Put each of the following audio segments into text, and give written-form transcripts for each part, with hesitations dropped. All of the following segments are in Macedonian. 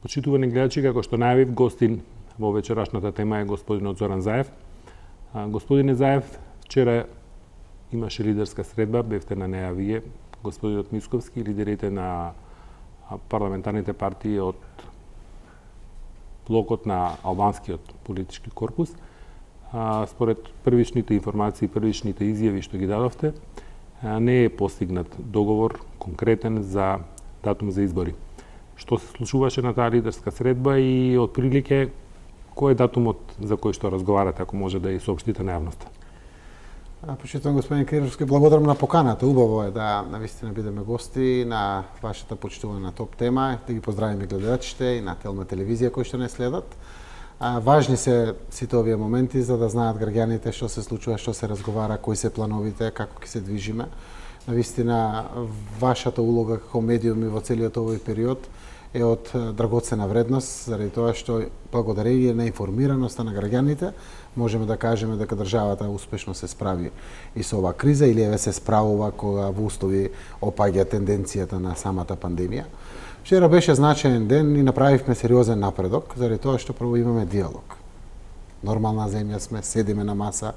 Почитувани гледачи, како што најавив, гостин во вечерашната тема е господинот Зоран Заев. Господине Заев, вчера имаше лидерска средба, бевте на неа вие, господинот Мисковски, лидерите на парламентарните партии од блокот на албанскиот политички корпус. Според првичните информации, првичните изјави што ги дадовте, не е постигнат договор конкретен за датум за избори. Што се случуваше на таа лидерска средба и отприлике кој е датумот за кој што разговарате, ако може да ја соопштите на јавноста? Почитувам господин Кириловски, благодарам на поканата. Убаво е да навистина бидеме гости на вашата почитувана топ тема, да ги поздравиме гледачите и на Телма телевизија кои што не следат. Важни се сите овие моменти за да знаат граѓаните што се случува, што се разговара, кои се плановите, како ќе се движиме. Навистина вашата улога како медиуми во целиот овој период е од драгоцена вредност, заради тоа што благодарение на информираноста на граѓаните можеме да кажеме дека државата успешно се справи и со оваа криза или еве се справува кога во услови опаѓа тенденцијата на самата пандемија. Вчера беше значаен ден и направивме сериозен напредок, заради тоа што прво имаме диалог. Нормална земја сме, седиме на маса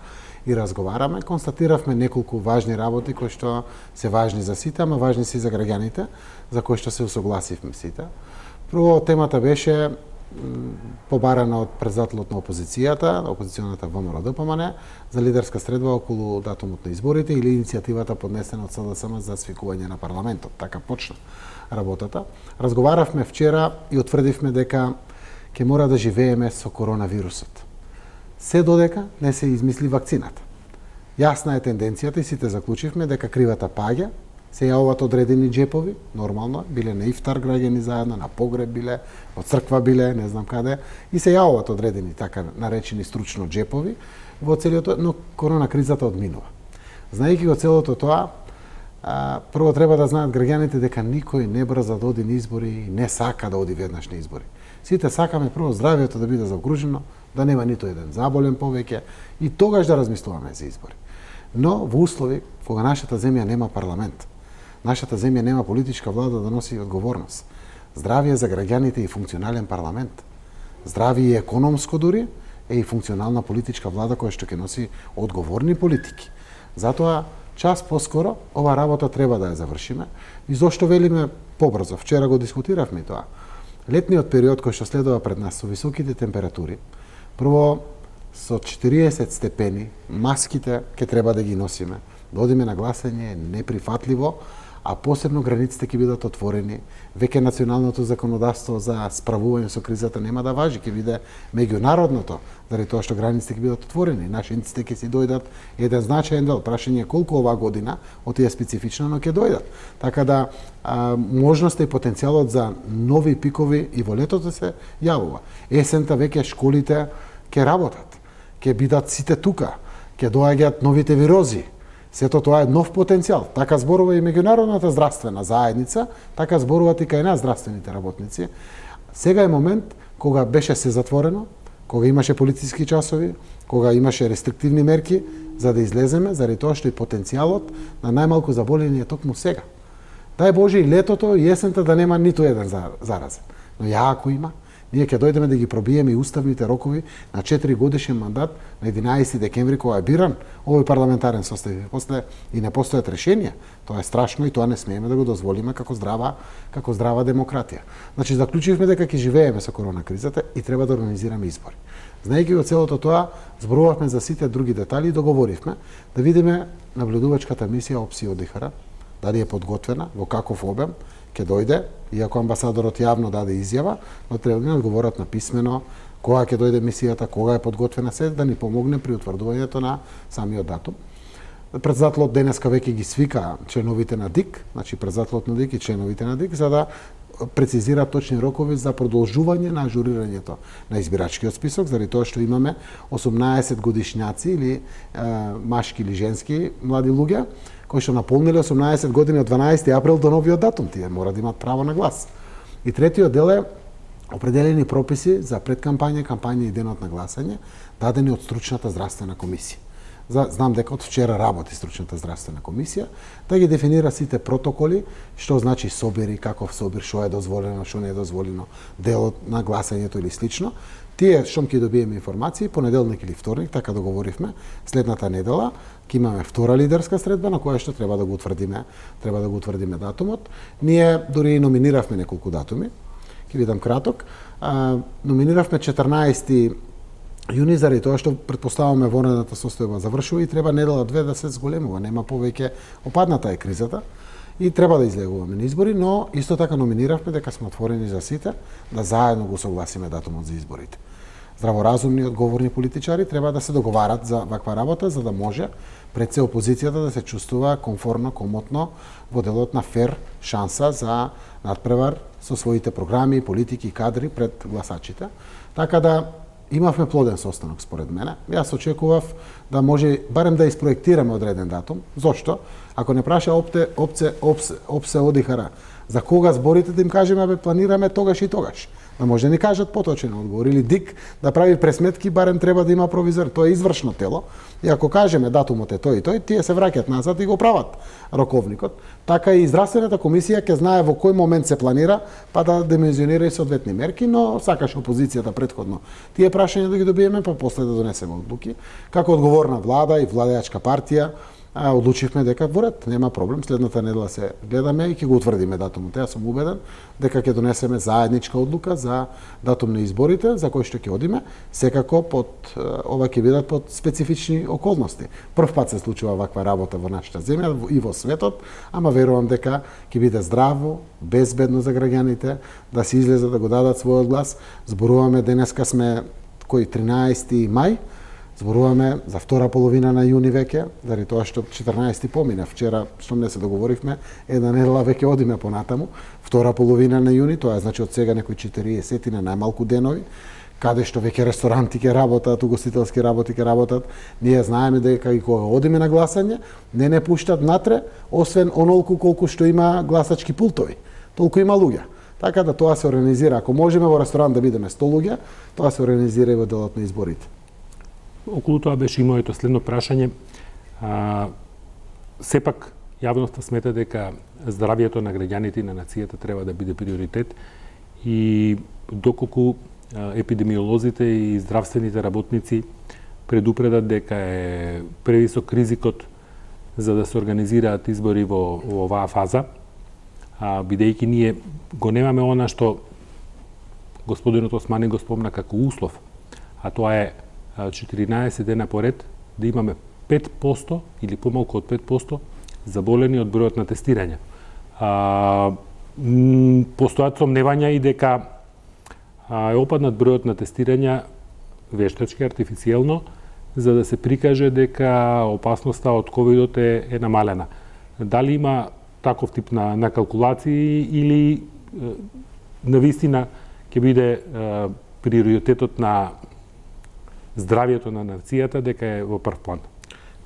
и разговараме, констатиравме неколку важни работи кои што се важни за сите, ама важни се и за граѓаните, за кои што се усогласивме сите. Прво темата беше побарана од председателот на опозицијата, опозиционата ВМРО-ДПМН, за лидерска средба околу датумот на изборите или иницијативата поднесена од СДСМ за свикување на парламентот. Така почна работата. Разговаравме вчера и утврдивме дека ќе мора да живееме со коронавирусот. Се додека не се измисли вакцината. Јасна е тенденцијата и сите заклучивме дека кривата паѓа, се јавуваат одредени џепови, нормално, биле на ифтар граѓани заедно, на погреб биле, во црква биле, не знам каде, и се јавуваат одредени така наречени стручно џепови во целиот, но корона кризата одминува. Знаејќи го целото тоа, прво треба да знаат граѓаните дека никој не брза да оди на избори и не сака да оди веднаш на избори. Сите сакаме прво здравието да биде загружено, да нема ниту еден заболен повеќе и тогаш да размислуваме за избори. Но во услови кога нашата земја нема парламент, нашата земја нема политичка влада да носи одговорност. Здравие за граѓаните и функционален парламент. Здравие и економско дури е и функционална политичка влада која што ќе носи одговорни политики. Затоа час поскоро ова работа треба да ја завршиме. И зошто велиме побрзо? Вчера го дискутиравме тоа. Летниот период кој што следува пред нас со високите температури, прво со 40 степени, маските ќе треба да ги носиме. Да одиме на гласање е неприфатливо, а посебно границите ќе бидат отворени. Веќе националното законодавство за справување со кризата нема да важи, ќе биде меѓународното, заради тоа што границите ќе бидат отворени. Нашинците ќе си дојдат еден значаен дел. Прашање колку оваа година од тие специфично, но ќе дојдат. Така да можноста и потенцијалот за нови пикови и во летото се јавува. Есента веќе школите ќе работат, ќе бидат сите тука, ќе доаѓаат новите вирози. Сето тоа е нов потенцијал. Така зборува и меѓународната здравствена заедница, така зборуваат и кај нас здравствените работници. Сега е момент кога беше се затворено, кога имаше полициски часови, кога имаше рестриктивни мерки, за да излеземе, заради тоа што и потенцијалот на најмалку заболени е токму сега. Дај Боже и летото и есента да нема ниту еден заразен. Но ја ако има, ние ќе дојдеме да ги пробиеме и уставните рокови на 4 годишен мандат на 11 декември кога е биран овој парламентарен состав. После и не постојат решенија. Тоа е страшно и тоа не смееме да го дозволиме како здрава демократија. Значи заклучивме дека ќе живееме со корона кризата и треба да организираме избори. Знаејќи го целото тоа, зборувавме за сите други детали и договоривме да видиме наблюдувачката мисија ОПСИ ОДИХР, дали е подготвена, во каков обем ќе дојде, иако амбасадорот јавно даде изјава, но треба да одговорат на писмено кога ќе дојде мисијата, кога е подготвена се, да ни помогне при утврдувањето на самиот датум. Председателот денеска веќе ги свика членовите на ДИК, значи председателот на ДИК и членовите на ДИК, за да прецизира точни рокови за продолжување на ажурирањето на избирачкиот список, заради тоа што имаме 18 годишњаци или машки или женски млади луѓе кои што наполниле 18 години од 12 април до новиот датум, тие мора да имаат право на глас. И третиот дел е определени прописи за предкампања, кампања и денот на гласање, дадени од стручната здравствена комисија. знам дека од вчера работи стручната здравствена комисија, да ги дефинира сите протоколи, што значи собери, каков собир, што е дозволено, што не е дозволено, делот на гласањето или слично. Тие што ќе добиеме информации понеделник или вторник, така договоривме, следната недела ќе имаме втора лидерска средба на која што треба да го утврдиме датумот. Ние дури номиниравме неколку датуми. Ќе бидам краток. Номиниравме 14 јуни заради тоа што претпоставуваме вонредната состојба завршува и треба недела-две да се зголемува, нема повеќе, опадната е кризата и треба да излегуваме на избори, но исто така номиниравме дека сме отворени за сите да заедно го согласиме датумот за изборите. Здраворазумни и одговорни политичари треба да се договарат за ваква работа за да може пред се опозицијата да се чувствува комфортно, комотно во делот на фер шанса за надпревар со своите програми, политики и кадри пред гласачите. Така да имавме плоден состанок според мене. Јас очекував да може барем да испроектираме одреден датум. Зошто? Ако не праша опсе одихара за кога зборите, да им кажеме бе планираме тогаш и тогаш. Да може да ни кажат поточен одговор или ДИК да прави пресметки, барем треба да има провизор. Тоа е извршно тело. И ако кажеме датумот е тој и тој, тие се враќаат назад и го прават роковникот. Така и здравствената комисија ќе знае во кој момент се планира, па да димензионира и соодветни мерки, но сакаше опозицијата претходно тие прашања да ги добиеме, па после да донесеме одлуки. Како одговорна влада и владеачка партија, одлучивме дека во ред, нема проблем, следната недела се гледаме и ќе го утврдиме датумот. Јас сум убеден дека ќе донесеме заедничка одлука за датум на изборите, за кој што ќе одиме, секако ова ќе бидат под специфични околности. Прв пат се случува ваква работа во нашата земја и во светот, ама верувам дека ќе биде здраво, безбедно за граѓаните, да се излезат да го дадат својот глас. Зборуваме денеска сме 13 мај, зборуваме за втора половина на јуни веќе, заради тоа што 14 помина. Вчера, што не се договоривме, една недела веќе одиме понатаму. Втора половина на јуни, тоа е значи од сега некои 40 на најмалку денови, каде што веќе ресторанти ќе работат, угостителски работи ќе работат. Ние знаеме дека и кога одиме на гласање, не пуштат натре, освен онолку колку што има гласачки пултови. Толку има луѓе. Така да тоа се организира. Ако можеме во ресторан да бидеме 100 луѓе, тоа се организира и во делот на изборите. Околу тоа беше и моето следно прашање. Сепак, јавноста смета дека здравјето на граѓаните и на нацијата треба да биде приоритет и доколку епидемиолозите и здравствените работници предупредат дека е превисок ризикот за да се организираат избори во оваа фаза, бидејќи ние го немаме она што господинот Османи го спомна како услов, а тоа е 14 дена поред да имаме 5% или помалку од 5% заболени од бројот на тестирање. Постојат сомневања и дека е опаднат бројот на тестирања вештачки, артифицијално, за да се прикаже дека опасноста од ковидот е намалена. Дали има таков тип на калкулации или навистина ќе биде приоритетот на здравјето на нацијата дека е во прв план?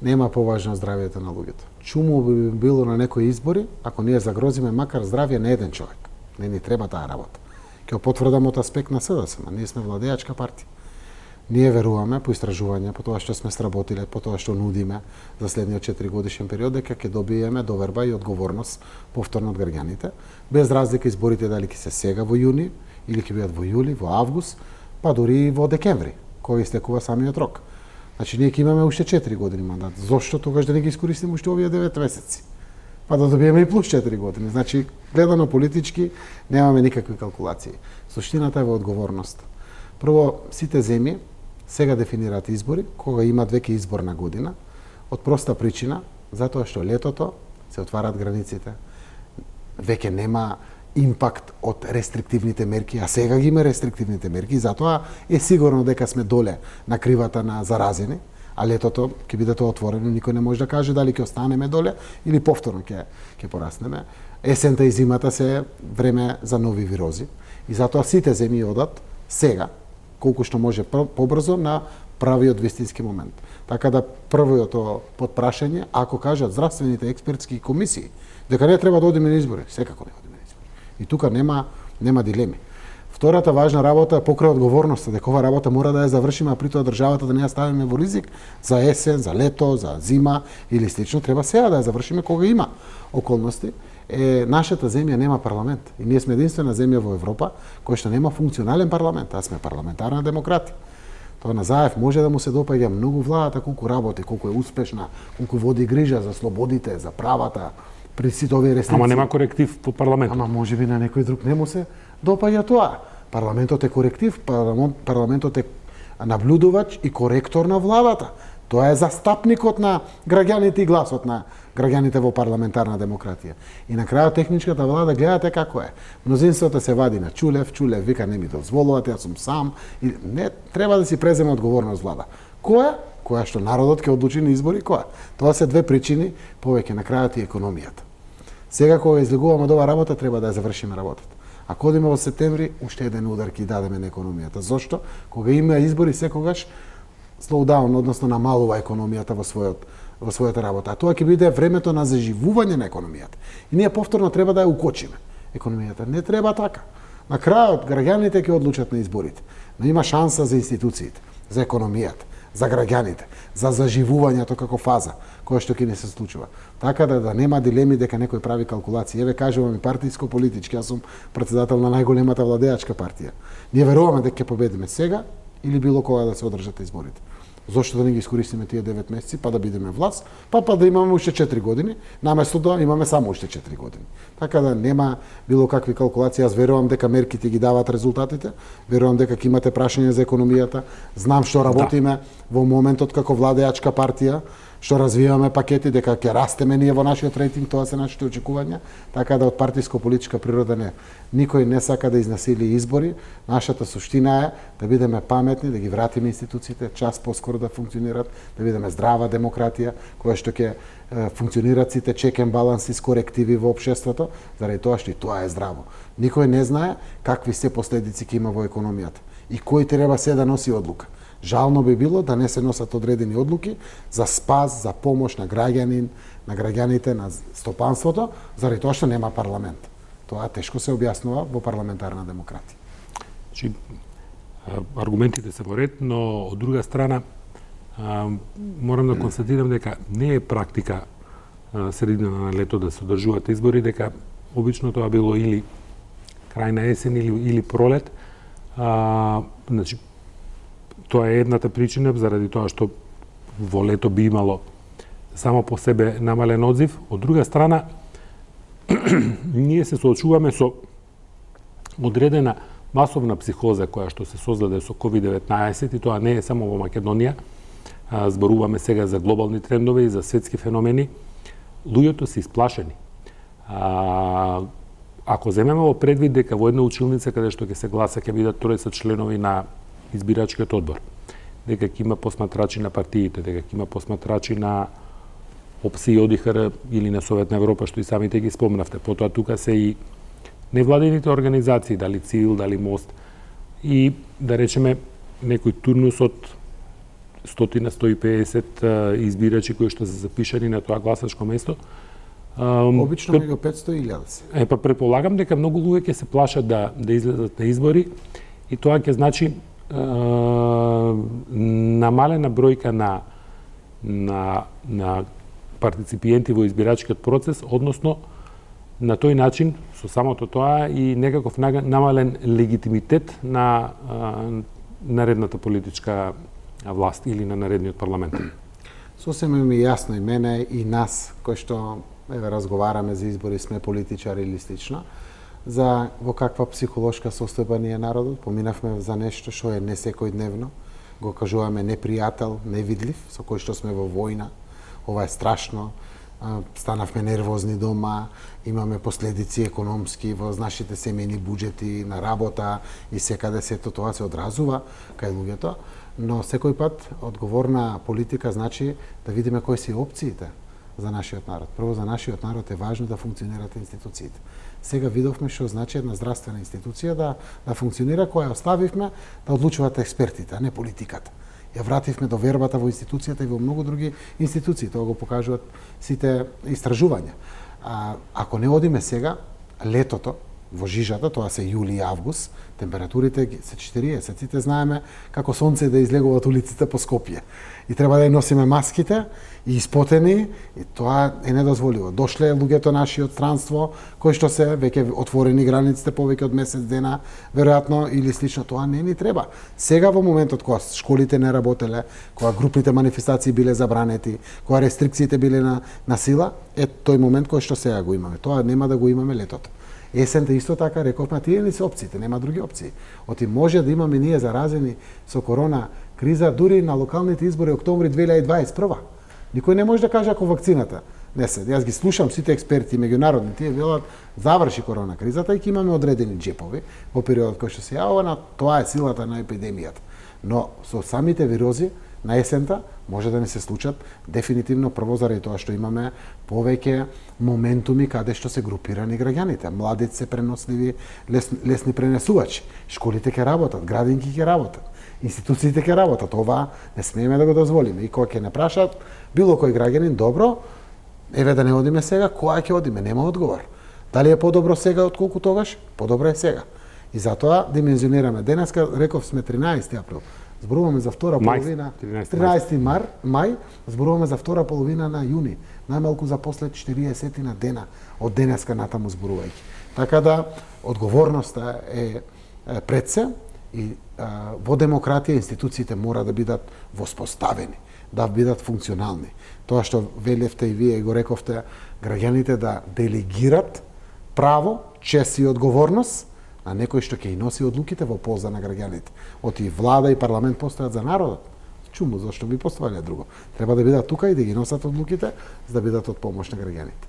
Нема поважно здравјето на луѓето. Чуму би било на некои избори ако ние загрозиме макар здравје на еден човек. Не ни треба таа работа. Ќе потврдам од аспект на СДСМ. Ние сме владеачка партија. Ние веруваме по истражувања, по тоа што сме сработиле, по тоа што нудиме за следниот 4 годишен период, дека ќе добиеме доверба и одговорност повторно од граѓаните, без разлика изборите дали ќе се сега во јуни или ќе бидат во јули, во август, па дури во декември, кој истекува самиот рок. Значи ние ќе имаме уште 4 години мандат. Зошто тогаш да не ги искористиме уште овие 9 месеци? Па да добиеме и плюс 4 години. Значи, гледано политички, немаме никакви калкулации. Суштината е во одговорност. Прво, сите земји сега дефинираат избори, кога имаат веќе изборна година, од проста причина, затоа што летото се отвараат границите. Веќе нема импакт од рестриктивните мерки, а сега ги има рестриктивните мерки, затоа е сигурно дека сме доле на кривата на заразени, а летото ќе биде тоа отворено, никој не може да каже дали ќе останеме доле или повторно ќе пораснеме. Есента и зимата се време за нови вирози и затоа сите земји одат сега, колку што може побрзо на правиот вистински момент. Така да првото подпрашање, ако кажат здравствените експертски комисии дека не треба да одиме на избори, секако не одиме на избори. И тука нема дилеми. Втората важна работа е покрај одговорноста, дека ова работа мора да ја завршиме, а при тоа државата да не ја ставиме во ризик за есен, за лето, за зима или слично, треба сега да ја завршиме кога има околности. Нашата земја нема парламент и ние сме единствена земја во Европа која што нема функционален парламент, а сме парламентарна демократија. Тоа на Заев може да му се допаѓа многу владата, колку работи, колку е успешна, колку води грижа за слободите, за правата, при сите овие рестрикции. Ама нема коректив по парламентот. Ама можеби на некој друг не му се допаѓа тоа. Парламентот е коректив, парламентот е наблюдувач и коректор на владата. Тоа е застапникот на граѓаните и гласот на граѓаните во парламентарна демократија. И на крајот техничката влада гледате како е. Мнозинството се вади на Чулев вика не ми дозволувате, јас сум сам. И не треба да си преземе одговорност влада. Која што народот ќе одлучи на избори, која? Тоа се две причини, повеќе на крајот и економијата. Сега кога излегуваме од ова работа, треба да ја завршиме работата. Ако одиме во септември, уште еден удар ќе дадеме на економијата. Зошто? Кога има избори секогаш слоудаун, односно намалува економијата во својата работа. А тоа ќе биде времето на заживување на економијата. И ние повторно треба да ја укочиме. Економијата не треба така. На крајот граѓаните ќе одлучат на изборите. Но има шанса за институциите, за економијата, за граѓаните, за заживувањето како фаза, која што ќе не се случува. Така да нема дилеми дека некој прави калкулации. Еве кажувам и партиско-политички, јас сум претседател на најголемата владеачка партија. Ние веруваме дека ќе победиме сега или било кога да се одржат изборите. Зошто да не ги искористиме тие 9 месеци, па да бидеме власт, па да имаме уште 4 години, наместо да имаме само уште 4 години. Така да нема било какви калкулации. Јас верувам дека мерките ги дават резултатите, верувам дека ќе имате прашање за економијата, знам што работиме во моментот како владеачка партија, што развиваме пакети, дека ќе растеме ние во нашиот рейтинг, тоа се нашите очекувања, така да од партиско-политичка природа не. Никој не сака да изнасили избори, нашата суштина е да бидеме паметни, да ги вратиме институциите час поскоро да функционират, да бидеме здрава демократија, која што ќе функционират сите check and balances, корективи во општеството, заради тоа што и тоа е здраво. Никој не знае какви се последици ќе има во економијата и кој треба се да носи одлука. Жално би било да не се носат одредени одлуки за спас, за помош на граѓанин, на граѓаните, на стопанството, заради тоа што нема парламент. Тоа тешко се објаснува во парламентарна демократија. Значи, аргументите се во ред, но од друга страна морам да констатирам дека не е практика средина на лето да се одржуваат избори, дека обично тоа било или крај на есен или пролет. Значи, тоа е едната причина, заради тоа што во лето би имало само по себе намален одзив. Од друга страна, ние се соочуваме со одредена масовна психоза која што се создаде со COVID-19 и тоа не е само во Македонија. Зборуваме сега за глобални трендове и за светски феномени. Луѓето се исплашени. Ако земеме во предвид дека во една училница каде што ќе се гласа ќе бидат тројца членови на избирачкиот одбор, дека ќе има посматрачи на партиите, дека ќе има посматрачи на ОПСИ и ОДИХР или на Совет на Европа, што и самите ги спомнавте. Потоа тука се и невладините организации, дали ЦИВИЛ, дали МОСТ, и да речеме некој турнус од 100-150 избирачи кои што се запишани на тоа гласачко место. Обично меѓу 500 и 1000. Па предполагам дека многу луѓе ќе се плашат да излезат на избори и тоа ќе значи намалена бројка на партиципиенти во избирачкиот процес, односно на тој начин со самото тоа и некаков намален легитимитет на наредната политичка власт или на наредниот парламент. Сосема ми јасно и мене и нас кои што разговараме за избори, сме политичари или слично, за во каква психолошка состојба ни е народот. Поминавме за нешто што е не секојдневно, го кажуваме непријател, невидлив, со кој што сме во војна. Ова е страшно, станавме нервозни дома, имаме последици економски во нашите семејни буџети, на работа и секаде сето тоа се одразува кај луѓето, но секој пат одговорна политика значи да видиме кои се опциите за нашиот народ. Прво, за нашиот народ е важно да функционират институциите. Сега видовме што значи една здравствена институција да функционира, која оставивме да одлучуваат експертите, а не политиката. Ја вративме до вербата во институцијата и во многу други институции. Тоа го покажуваат сите истражувања. Ако не одиме сега, летото, во жижата, тоа се јули и август, температурите се 40, сите знаеме како сонце да излегуваат улиците по Скопје. И треба да ја носиме маските, и испотени, и тоа е недозволиво. Дошле луѓето наши од странство, кои што се веќе отворени границите повеќе од месец дена, веројатно или слично, тоа не ни треба. Сега во моментот кога школите не работеле, кога групните манифестации биле забранети, кога рестрикциите биле на сила, е тој момент кој што сега го имаме. Тоа нема да го имаме летото. Есента исто така рековме, тие не се опциите, нема други опции. Оти може да имаме ние заразени со корона криза дури на локалните избори октомври 2021. Никој не може да каже ако вакцината не се. Јас ги слушам сите експерти меѓународни, тие велат заврши корона кризата и ќе имаме одредени џепови во периодот кој што се јавува, тоа е силата на епидемијата. Но со самите вирози на есента може да не се случат дефинитивно прво заради тоа што имаме повеќе моментуми каде што се групирани граѓаните. Младите се преносливи, лесни пренесувачи. Школите ќе работат, градинки ќе работат, институциите ќе работат. Ова не смееме да го дозволиме. И кога ќе не прашат било кој граѓанин, добро, еве да не одиме сега, која ќе одиме, нема одговор. Дали е подобро сега отколку тогаш? Подобро е сега. И затоа димензионираме. Денеска реков сме 13 април. Зборуваме за втора половина 13 мај, зборуваме за втора половина на јуни, најмалку за после 40 на дена од денеска натаму зборувајќи. Така да одговорноста е пред се и во демократија институциите мора да бидат воспоставени, да бидат функционални. Тоа што велевте и вие го рековте, граѓаните да делегират право, чест и одговорност на некој што ќе и носи одлуките во полза на граѓаните. Оти влада и парламент постојат за народот. Чуму, зашто би постојале друго? Треба да бидат тука и да ги носат одлуките, за да бидат од помош на граѓаните.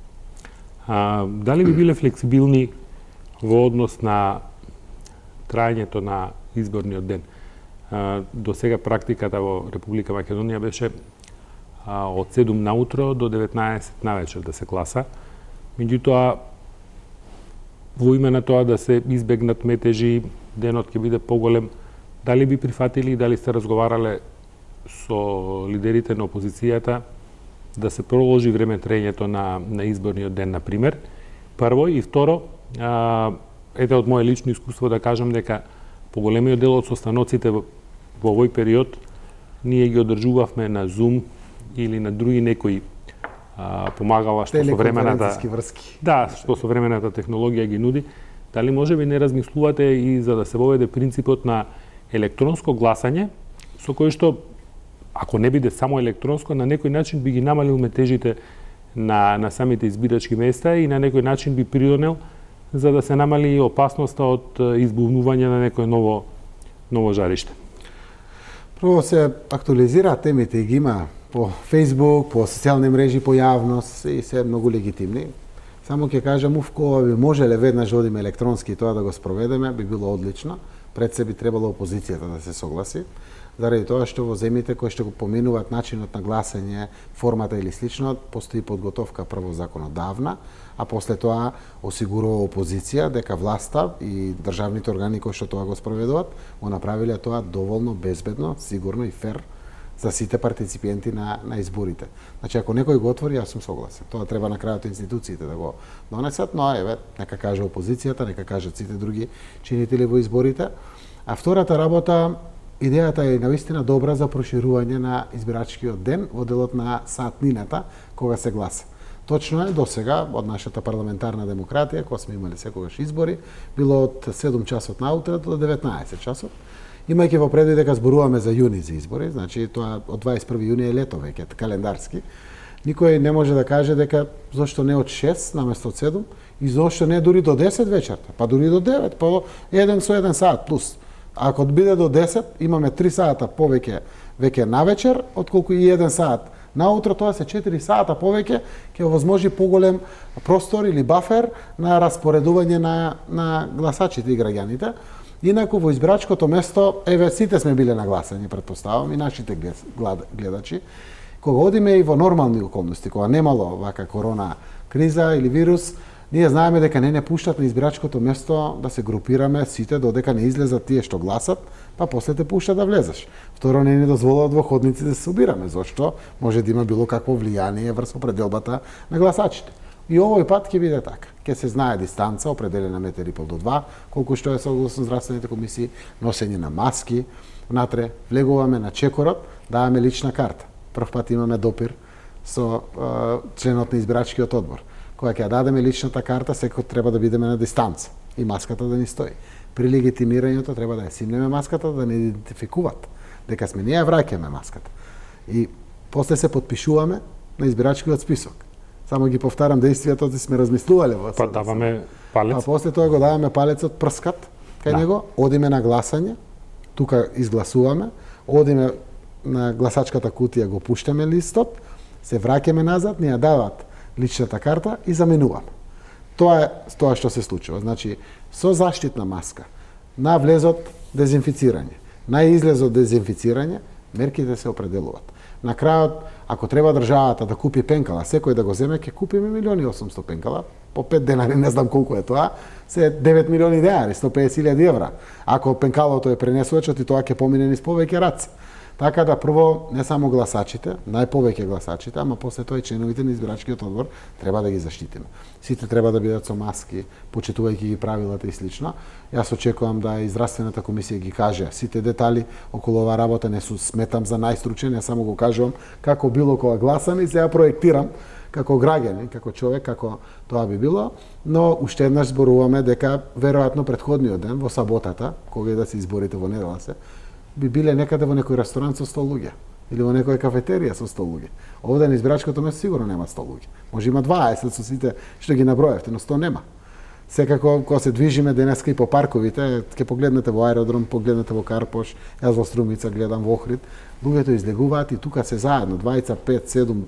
Дали би биле флексибилни во однос на трајањето на изборниот ден? До сега практиката во Република Македонија беше од 7 наутро до 19 навечер да се гласа. Меѓутоа, во име на тоа да се избегнат метежи, денот ќе биде поголем, дали би прифатили и дали сте разговарале со лидерите на опозицијата да се проложи време траењето на изборниот ден, на пример? Прво, и второ, ете од моје лично искуство да кажам дека поголемиот дел од состаноците во овој период ние ги одржувавме на Zoom или на други некои помагала што современата врски. Да, што современата технологија ги нуди. Дали може би не размислувате и за да се воведе принципот на електронско гласање, со кој што ако не биде само електронско, на некој начин би ги намалил метежите на самите избирачки места и на некој начин би придонел за да се намали опасноста од избувнување на некој ново жариште. Прво се актуализираат темите и ги има по Facebook, по социјални мрежи, по јавност и се многу легитимни. Само ќе кажам, кога би можеле веднаш да одиме електронски тоа да го спроведеме, би било одлично. Пред се би требало опозицијата да се согласи, заради тоа што во земјите кои што го поминуваат начинот на гласање, формата или слично, постои подготовка прво законодавна, а после тоа осигурува опозиција дека власта и државните органи кои што тоа го спроведуваат, го направиле тоа доволно безбедно, сигурно и фер за сите партиципенти на изборите. Значи, ако некој го отвори, јас сум согласен. Тоа треба на крајот институциите да го донесат, но еве, нека каже опозицијата, нека кажат сите други чинители во изборите. А втората работа, идејата е навистина добра за проширување на избирачкиот ден во делот на саатнината кога се гласа. Точно е, досега, од нашата парламентарна демократија, кога сме имали секогаш избори, било од 7 часот наутре до 19 часот. Имајќи во предвид дека зборуваме за јуни за избори, значи тоа од 21 јуни е лето веќе, календарски, никој не може да каже дека зошто не од 6 наместо од 7 и зошто не дури до 10 вечерта, па дури до 9, па еден со 1 саат плюс. Ако биде до 10, имаме 3 сата повеќе веќе навечер, отколку и 1 саат наутро, тоа се 4 сата повеќе, ќе овозможи поголем простор или бафер на распоредување на гласачите и граѓаните. Инаку во избирачкото место, еве сите сме биле на гласање, претпоставам, и нашите гледачи, кога одиме и во нормални околности, кога немало вака корона криза или вирус, ние знаеме дека не пуштат на избирачкото место да се групираме сите додека не излезат тие што гласат, па после те пуштат да влезеш. Второ, не ни дозволуваат во ходници да се собираме, зашто може да има било какво влијание врз определбата на гласачите. И овој пат ќе биде така. ќе се знае дистанца определена 1,5 метри до 2, колку што е согласно здравствените комисии, носење на маски, внатре влегуваме на чекорот, даваме лична карта. Прв пат имаме допир со членот на избирачкиот одбор. Кога ќе дадеме личната карта, секој треба да бидеме на дистанца и маската да ни стои. При легитимирањето треба да ја симнеме маската, да не идентификуваат дека сме ние, враќаме маската. И после се подпишуваме на избирачкиот список. Само ги повтарам действијата, да сме размислувале во. Па даваме палец. А после тоа го даваме палецот прскат кај него, одиме на гласање, тука изгласуваме, одиме на гласачката кутија, го пуштаме листот, се враќаме назад, ни ја дават личната карта и заменуваме. Тоа е тоа што се случува. Значи, со заштитна маска, на влезот дезинфицирање, на излезот дезинфицирање, мерките се определуваат. На крајот, ако треба државата да купи пенкала, секој да го земе, ќе купиме 1.800.000 пенкала, по 5 денари, не знам колку е тоа, се 9 милиони денари, 150.000 евра. Ако пенкалото е пренесувачот и тоа ќе помине низ повеќе раци. Така да прво не само гласачите, најповеќе гласачите, ама после тоа и членовите на избирачкиот одбор треба да ги заштитиме. Сите треба да бидат со маски, почитувајќи ги правилата и слично. Јас очекувам да и здравствената комисија ги каже сите детали околу оваа работа, не сметам за најстручен, јас само го кажувам како било кога гласам и сега проектирам како граѓанин, како човек, како тоа би било, но уште еднаш зборуваме дека веројатно претходниот ден во саботата, кога и да се изборите во недела се, би биле некаде во некој ресторан со 100 луѓе или во некоја кафетерија со 100 луѓе. Овде на избирачкото место сигурно нема 100 луѓе. Може има 20 со сите што ги наброевте, но 100 нема. Секако, кога се движиме денеска и по парковите, ќе погледнете во аеродром, погледнете во Карпош, јас во Струмица гледам во Охрид, луѓето излегуваат и тука се заедно, 2, 5, 7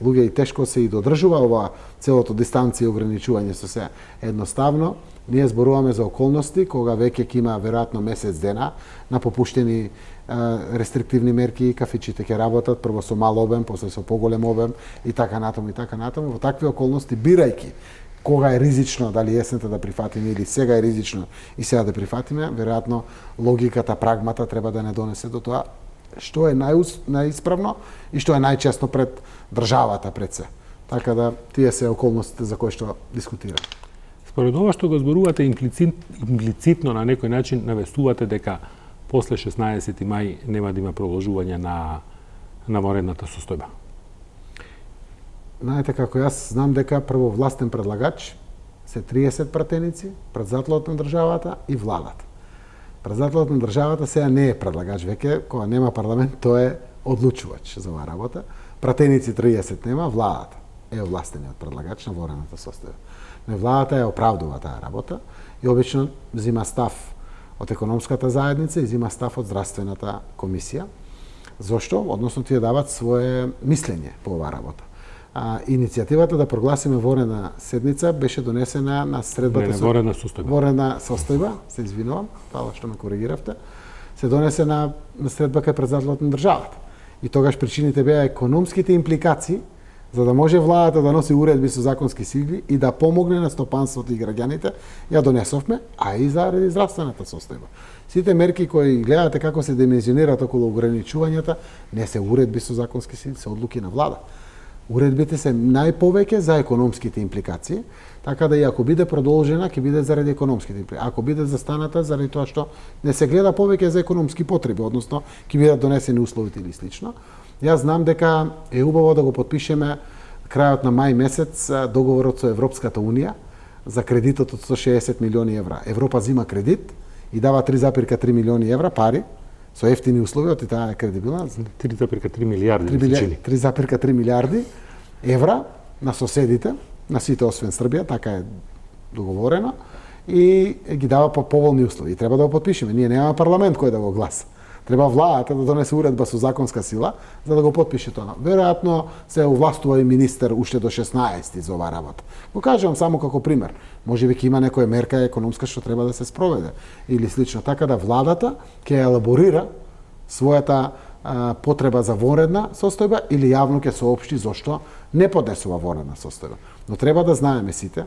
луѓе и тешко се и додржува ова целото дистанција и ограничување со се. Едноставно, ние зборуваме за околности кога веќе ќе има веројатно месец дена на попуштени рестриктивни мерки, кафичите ќе работат прво со мал обем, после со поголем обем и така натаму и така натаму. Во такви околности, бирајќи кога е ризично, дали есента да прифатиме или сега е ризично и сега да прифатиме, веројатно логиката, прагмата треба да не донесе до тоа што е најисправно и што е најчесто пред државата пред се. Така да тие се околностите за кои што дискутираме. Според ова што го зборувате имплицитно на некој начин навестувате дека после 16 мај нема да има продолжување на ванредната состојба. Знаете како јас знам дека прво властен предлагач се 30 пратеници, председателот на државата и владата. Председателот на државата сега не е предлагач веќе, кога нема парламент, тој е одлучувач за оваа работа. Пратеници 30 нема, владата е овластениот предлагач на ванредната состојба. Но владата ја оправдува таа работа и обично зима став од економската заедница и зима став од здравствената комисија. Зошто? Односно тие дават свое мислење по оваа работа. Иницијативата да прогласиме ванредна седница беше донесена на средбата со ванредна состојба. Ванредна состојба, се извинувам, фала што ме коригиравте. Се донесе на средба кај председателот на државата. И тогаш причините беа економските импликации за да може владата да носи уредби со законски сили и да помогне на стопанството и граѓаните, ја донесовме, а и заради здравствената состојба. Сите мерки кои гледате како се димензионираат околу ограничувањата, не се уредби со законски сили, се одлуки на влада. Уредбите се најповеќе за економските импликации, така да и ако биде продолжена, ќе биде заради економските импликации. Ако биде застаната, заради тоа што не се гледа повеќе за економски потреби, односно ќе бидат донесени условите или слично. Јас знам дека е убаво да го потпишеме крајот на мај месец договорот со Европската Унија за кредитот од 160 милиони евра. Европа зима кредит и дава 3,3 милиони евра пари со ефтини услови, и таа е кредибилна. 3,3 милиарди. 3,3 милиарди евра на соседите, на сите освен Србија, така е договорено, и ги дава по поволни услови. И треба да го потпишеме. Ние немаме парламент кој да го гласа. Треба владата да донесе уредба со законска сила за да го потпише тоа. Веројатно се овластува и министер уште до 16 за оваа работа. Го кажувам само како пример. Можеби ќе има некоја мерка економска што треба да се спроведе или слично, така да владата ќе елаборира својата потреба за ванредна состојба или јавно ќе соопшти зошто не поднесува ванредна состојба. Но треба да знаеме сите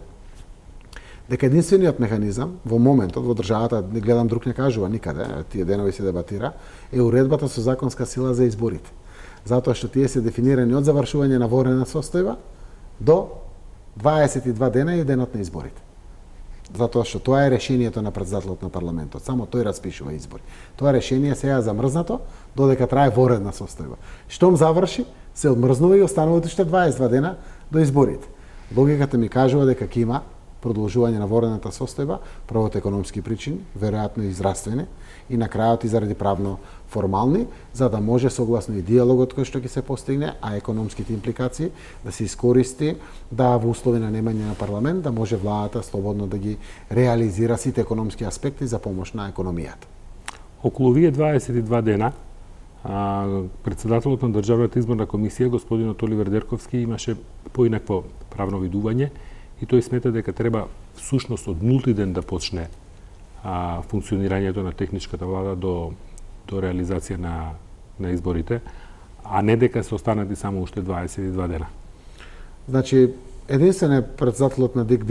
дека единствениот механизам во моментот во државата, не гледам друг не кажува никаде, тие денови се дебатира, е уредбата со законска сила за изборите. Затоа што тие се дефинирани од завршување на ванредна состојба до 22 дена е денот на изборите. Затоа што тоа е решението на претседателот на парламентот. Само тој распишува избори. Тоа решение сега е замрзнато додека трае воредна состојба. Штом заврши, се одмрзнува и остануваат уште 22 дена до изборите. Логиката ми кажува дека ќе има продолжување на воредната состојба, прво од економски причини, веројатно и здравствени, и на крајот и заради правно формални, за да може согласно и диалогот кој што ќе се постигне, а економските импликации да се искористи, да во услови на немање на парламент, да може владата слободно да ги реализира сите економски аспекти за помош на економијата. Околу овие 22 дена, претседателот на Државната изборна комисија, господинот Оливер Дерковски, имаше поинакво правно видување и тој смета дека треба всушност од нулти ден да почне функционирањето на техничката влада до реализација на изборите, а не дека се останати само уште 22 дена. Значи, единствен е претседателот на ДИК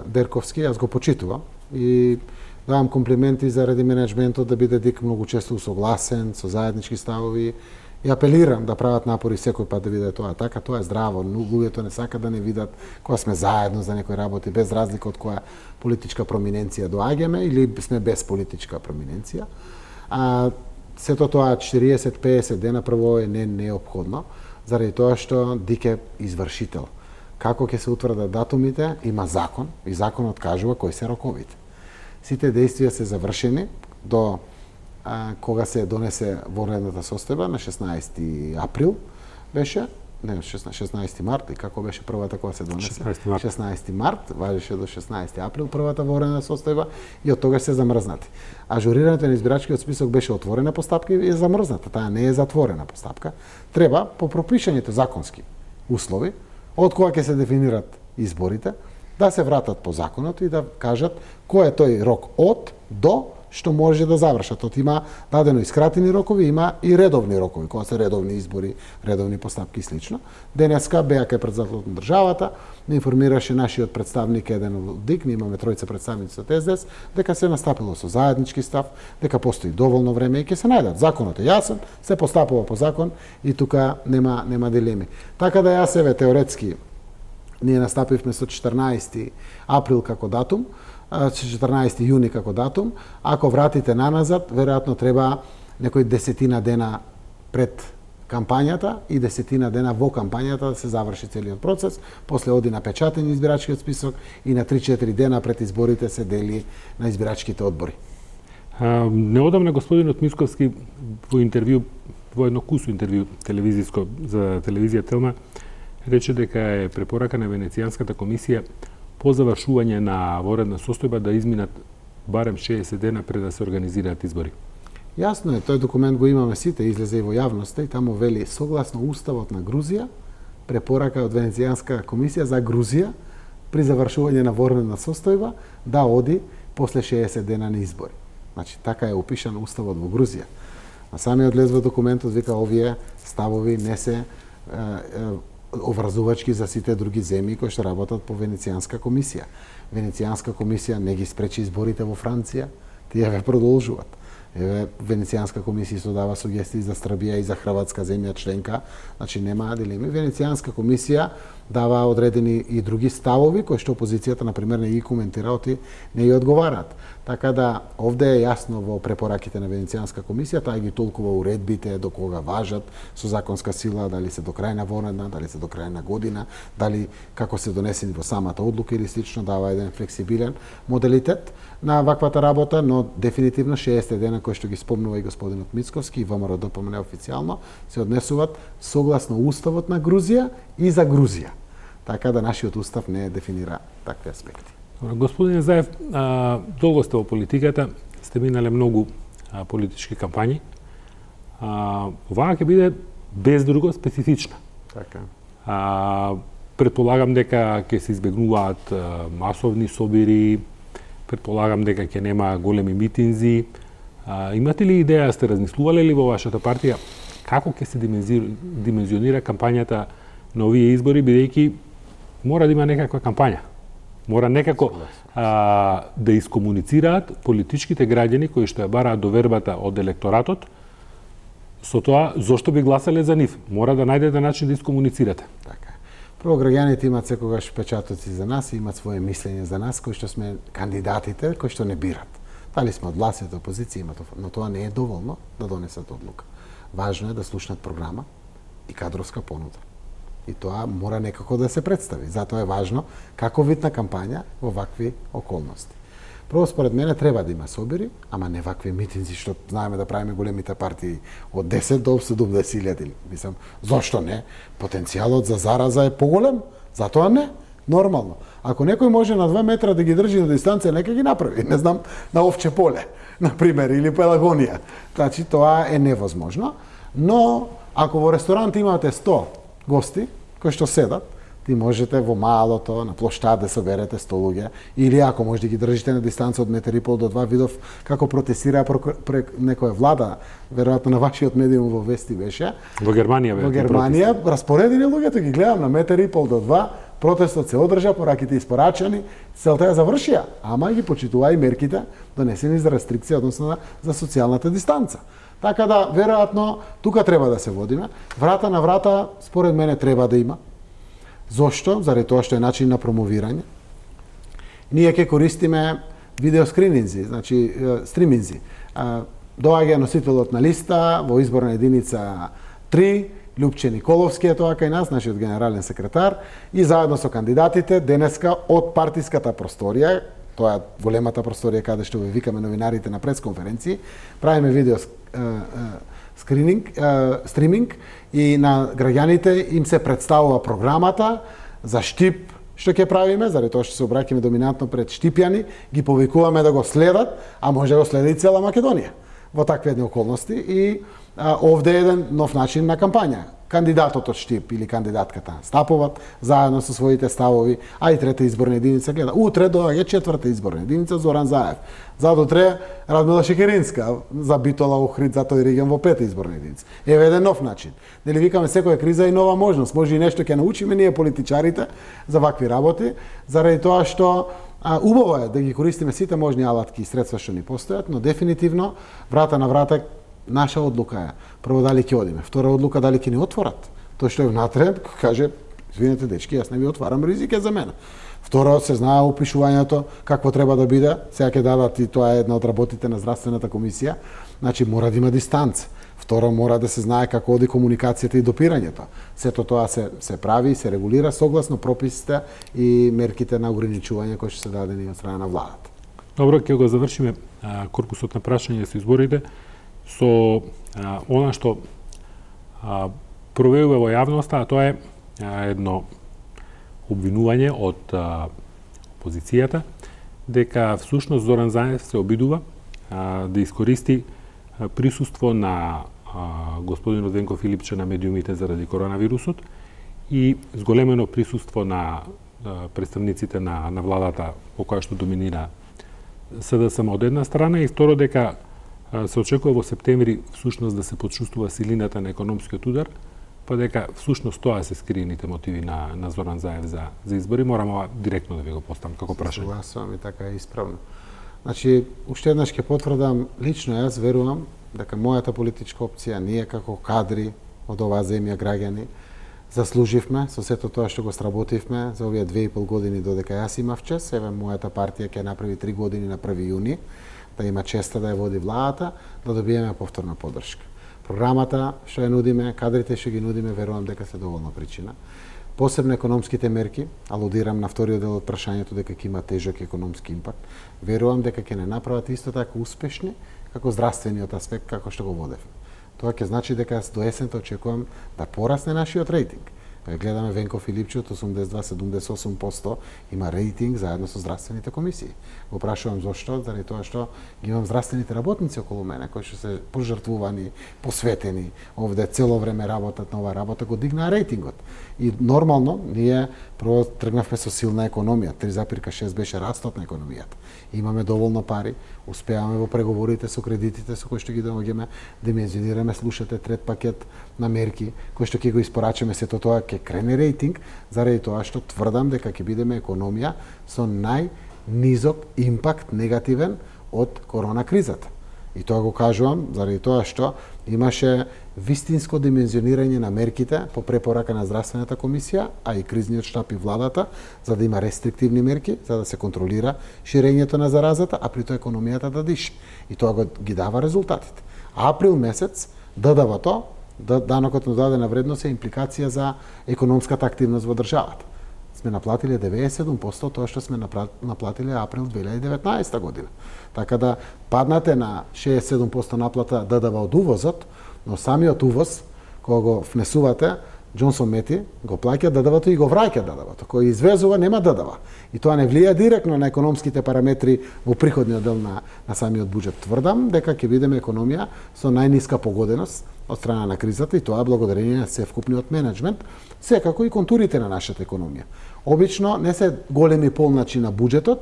Дерковски, јас го почитувам и давам комплименти заради менеджментот да биде ДИК многу често усогласен со заеднички ставови и апелирам да прават напори секој пат да биде тоа така. Тоа е здраво, луѓето не сакат да не видат кога сме заедно за некој работи, без разлика од која политичка проминенција доаѓаме или сме без политичка проминенција. Сето тоа 40-50 дена прво е неопходно, заради тоа што ДИК е извршител. Како ќе се утврдат датумите, има закон и законот кажува кои се роковите. Сите действија се завршени до кога се донесе воредната состојба на 16 април беше, не 16 март, и како беше првата кога се донесе? 16 март, важеше до 16 април првата воредна состојба и од тогаш се замрзнати. Ажурирањето на избирачкиот список беше отворена постапка и е замрзната, таа не е затворена постапка. Треба по пропишаните законски услови, од кога ќе се дефинират изборите, да се вратат по законот и да кажат кој е тој рок од до што може да завршат. Од има дадено и скратени рокови, има и редовни рокови, кога се редовни избори, редовни постапки и слично. Денеска БАК претседателот на државата не информираше нашиот представник еден од ДИК, ние имаме тројца представници од СДС, дека се настапило со заеднички став, дека постои доволно време и ќе се најдат. Законот е јасен, се постапува по закон и тука нема дилеми. Така да јас еве теоретски ние настапивме со 14 април како датум, 14 јуни како датум. Ако вратите наназад, веројатно треба некои 10 дена пред кампањата и 10 дена во кампањата да се заврши целиот процес, после оди на печатен избирачкиот список и на 3-4 дена пред изборите се дели на избирачките одбори. Неодамна господинот Мицковски во интервју, во едно кусо интервју телевизиско за телевизија Телма, рече дека е препорака на Венецијанската комисија по завршување на воредна состојба да изминат барем 60 дена пред да се организираат избори. Јасно е, тој документ го имаме сите, излезе и во јавноста и таму вели согласно уставот на Грузија, препорака од Венецијанска комисија за Грузија при завршување на воредна состојба да оди после 60 дена на избори. Значи така е опишан уставот во Грузија. На самиот лез во документот вика овие ставови не се образувачки за сите други земји кои што работат по Венецијанска комисија. Венецијанска комисија не ги спречи изборите во Франција, тие ве продолжуваат. Еве Венецијанска комисија исто дава сугестии за Србија и за Хрватска земја членка, значи нема дилеми. Венецијанска комисија дава одредени и други ставови кои што опозицијата на пример не ги коментираат и не ги одговараат. Така да овде е јасно во препораките на Венецијанска комисија, таа ги толкува уредбите до кога важат со законска сила, дали се до крај на воредна, дали се до крај на година, дали како се донесени во самата одлука или слично, дава еден флексибилен моделитет на ваквата работа, но дефинитивно 60 дена кои што ги спомнува и господинот Мицковски и ВМРО ДПМН официјално се однесуваат согласно уставот на Грузија и за Грузија. Така да нашиот устав не дефинира такви аспекти. Господине Заев, долго сте во политиката, сте минале многу политички кампањи. Оваа ќе биде без друго специфична. Така. Предполагам дека ќе се избегнуваат масовни собири, предполагам дека ќе нема големи митинзи. Имате ли идеја, сте размислувале ли во вашата партија како ќе се димензионира кампањата на овие избори, бидејќи мора да има некаква кампања? Мора некако да искомуницираат политичките граѓани кои што ја бараат довербата од електоратот со тоа зошто би гласале за нив. Мора да најдете начин да искомуницирате. Така. Прво, граѓаните имаат секогаш печатоци за нас и имаат свое мислење за нас, кои што сме кандидатите, кои што не бират. Дали сме од властите, опозиција, но тоа не е доволно да донесат одлука. Важно е да слушнат програма и кадровска понуда. И тоа мора некако да се представи. Затоа е важно како вид на кампања во вакви околности. Прво, според мене, треба да има собери, ама не вакви митинзи што знаеме да правиме големите партии од 10 до 70.000. Мислам, зошто не? Потенцијалот за зараза е поголем, затоа не. Нормално. Ако некој може на 2 метра да ги држи на дистанција, нека ги направи. Не знам, на овче поле, например, или Пелагонија. Значи, тоа е невозможно. Но, ако во ресторант имате 100 гости, кои што седат, ти можете во малото, на плоштад да соберете 100 луѓе, или ако може да ги држите на дистанца од 1,5 до 2, видов како протестираа прек некоја влада, веројатно на вашиот медиум во Вести беше. Во Германија Во Германија распоредени луѓето, ги гледам на 1,5 до 2, протестот се одржа, пораките испорачани, целта ја завршија, ама ги почитуваа и мерките донесени за рестрикција, односно за социјалната дистанца. Така да, веројатно, тука треба да се водиме. Врата на врата, според мене, треба да има. Зошто? Заради тоа што е начин на промовирање. Ние ќе користиме видеоскрининзи, значи стриминзи. Доаѓа носителот на листа во изборна единица 3, Лјупче Николовски е тоа кај нас, нашиот генерален секретар, и заедно со кандидатите денеска од партиската просторија, тоа е големата просторија каде што ви викаме новинарите на пресконференции, правиме видео стриминг и на граѓаните им се представува програмата за Штип што ќе правиме, заради тоа што се обраќаме доминантно пред штипјани, ги повикуваме да го следат, а може да го следи и цела Македонија во такви едни околности и овде е еден нов начин на кампања. Кандидатот од Штип или кандидатката стапуваат заедно со своите ставови, а и трета изборна единица гледа. Утре доаѓа четврта изборна единица Зоран Заев. Задутре Радмила Шекеринска за Битола Охрид за тој регион во пета изборна единица. Еве еден нов начин. Нели викаме секоја криза и нова можност. Може и нешто ќе научиме ние политичарите за вакви работи, заради тоа што убаво е да ги користиме сите можни алатки и средства што ни постојат, но дефинитивно врата на врата наша одлука е. Прво дали ќе одиме, втора одлука дали ќе ни отворат. Тој што е внатре каже, извинете дечки, јас не ви отварам, ризик е за мене. Второ, се знае опишувањето какво треба да биде, сега ќе дадат и тоа е една од работите на здравствената комисија, значи мора да има дистанца. Второ, мора да се знае како оди комуникацијата и допирањето. Сето тоа се прави и се регулира согласно прописите и мерките на ограничување кои што се дадени од страна на владата. Добро, ќе го завршиме корпусот на прашања со изборите со она што провеува во јавноста, а тоа е едно обвинување од опозицијата дека всушност Зоран Заев се обидува да искористи присуство на господинот Венко Филипче на медиумите заради коронавирусот и зголемено присуство на представниците на владата по која што доминира СДСМ од една страна и второ дека се очекува во септември всушност да се почувствува силината на економскиот удар, па дека всушност тоа се скриените мотиви на Зоран Заев за избори. Морам директно да ви го поставам како прашање. Согласувам и така е исправно. Значи, уште еднаш ќе потврдам, лично јас верувам дека мојата политичка опција, ние како кадри од оваа земја граѓани, заслуживме со сето тоа што го сработивме за овие 2,5 години додека јас имав чест. Еве мојата партија ќе направи 3 години на 1 јуни, да има честа да ја води владата, да добиеме повторна поддршка. Програмата што ја нудиме, кадрите што ги нудиме, верувам дека се доволна причина. Посебно економските мерки, алудирам на вториот дел од прашањето дека ќе има тежок економски импакт, верувам дека ќе не направат исто така успешни како здравствениот аспект како што го водевме. Тоа ќе значи дека до есента очекувам да порасне нашиот рейтинг. Гледаме Венко Филипче од 82-78% има рейтинг заедно со здравствените комисии. Го прашувам зошто, заради тоа што ги имам здравствените работници околу мене кои што се пожртвувани, посветени, овде цело време работат на оваа работа, го дигнаа рейтингот. И нормално ние прво тргнавме со силна економија, 3,6 беше растот на економијата. Имаме доволно пари, успеаваме во преговорите со кредитите со кои што ги доаѓаме, димензионираме, слушате трет пакет на мерки кои што ќе го испорачаме, сето тоа ќе крене рейтинг, заради тоа што тврдам дека ќе бидеме економија со најнизок импакт негативен од корона кризата. И тоа го кажувам заради тоа што имаше вистинско димензионирање на мерките по препорака на здравствената комисија, а и кризниот штаб и владата, за да има рестриктивни мерки, за да се контролира ширењето на заразата, а при тоа економијата да дише. И тоа ги дава резултатите. Април месец ДДВ-то, данокот на додадена вредност, е импликација за економската активност во државата. Сме наплатиле 97% тоа што сме наплатиле април 2019 година. Така да паднате на 67% наплата ДДВ од увозот, но самиот увоз, кога го внесувате, Джонсон Мети го плаќа ДДВ-то и го враќа ДДВ-то. Кој извезува нема ДДВ. И тоа не влија директно на економските параметри во приходниот дел на самиот буџет. Тврдам дека ќе видиме економија со најниска погоденост од страна на кризата, и тоа благодарение на севкупниот менеджмент, секако и контурите на нашата економија. Обично не се големи полначи на буџетот,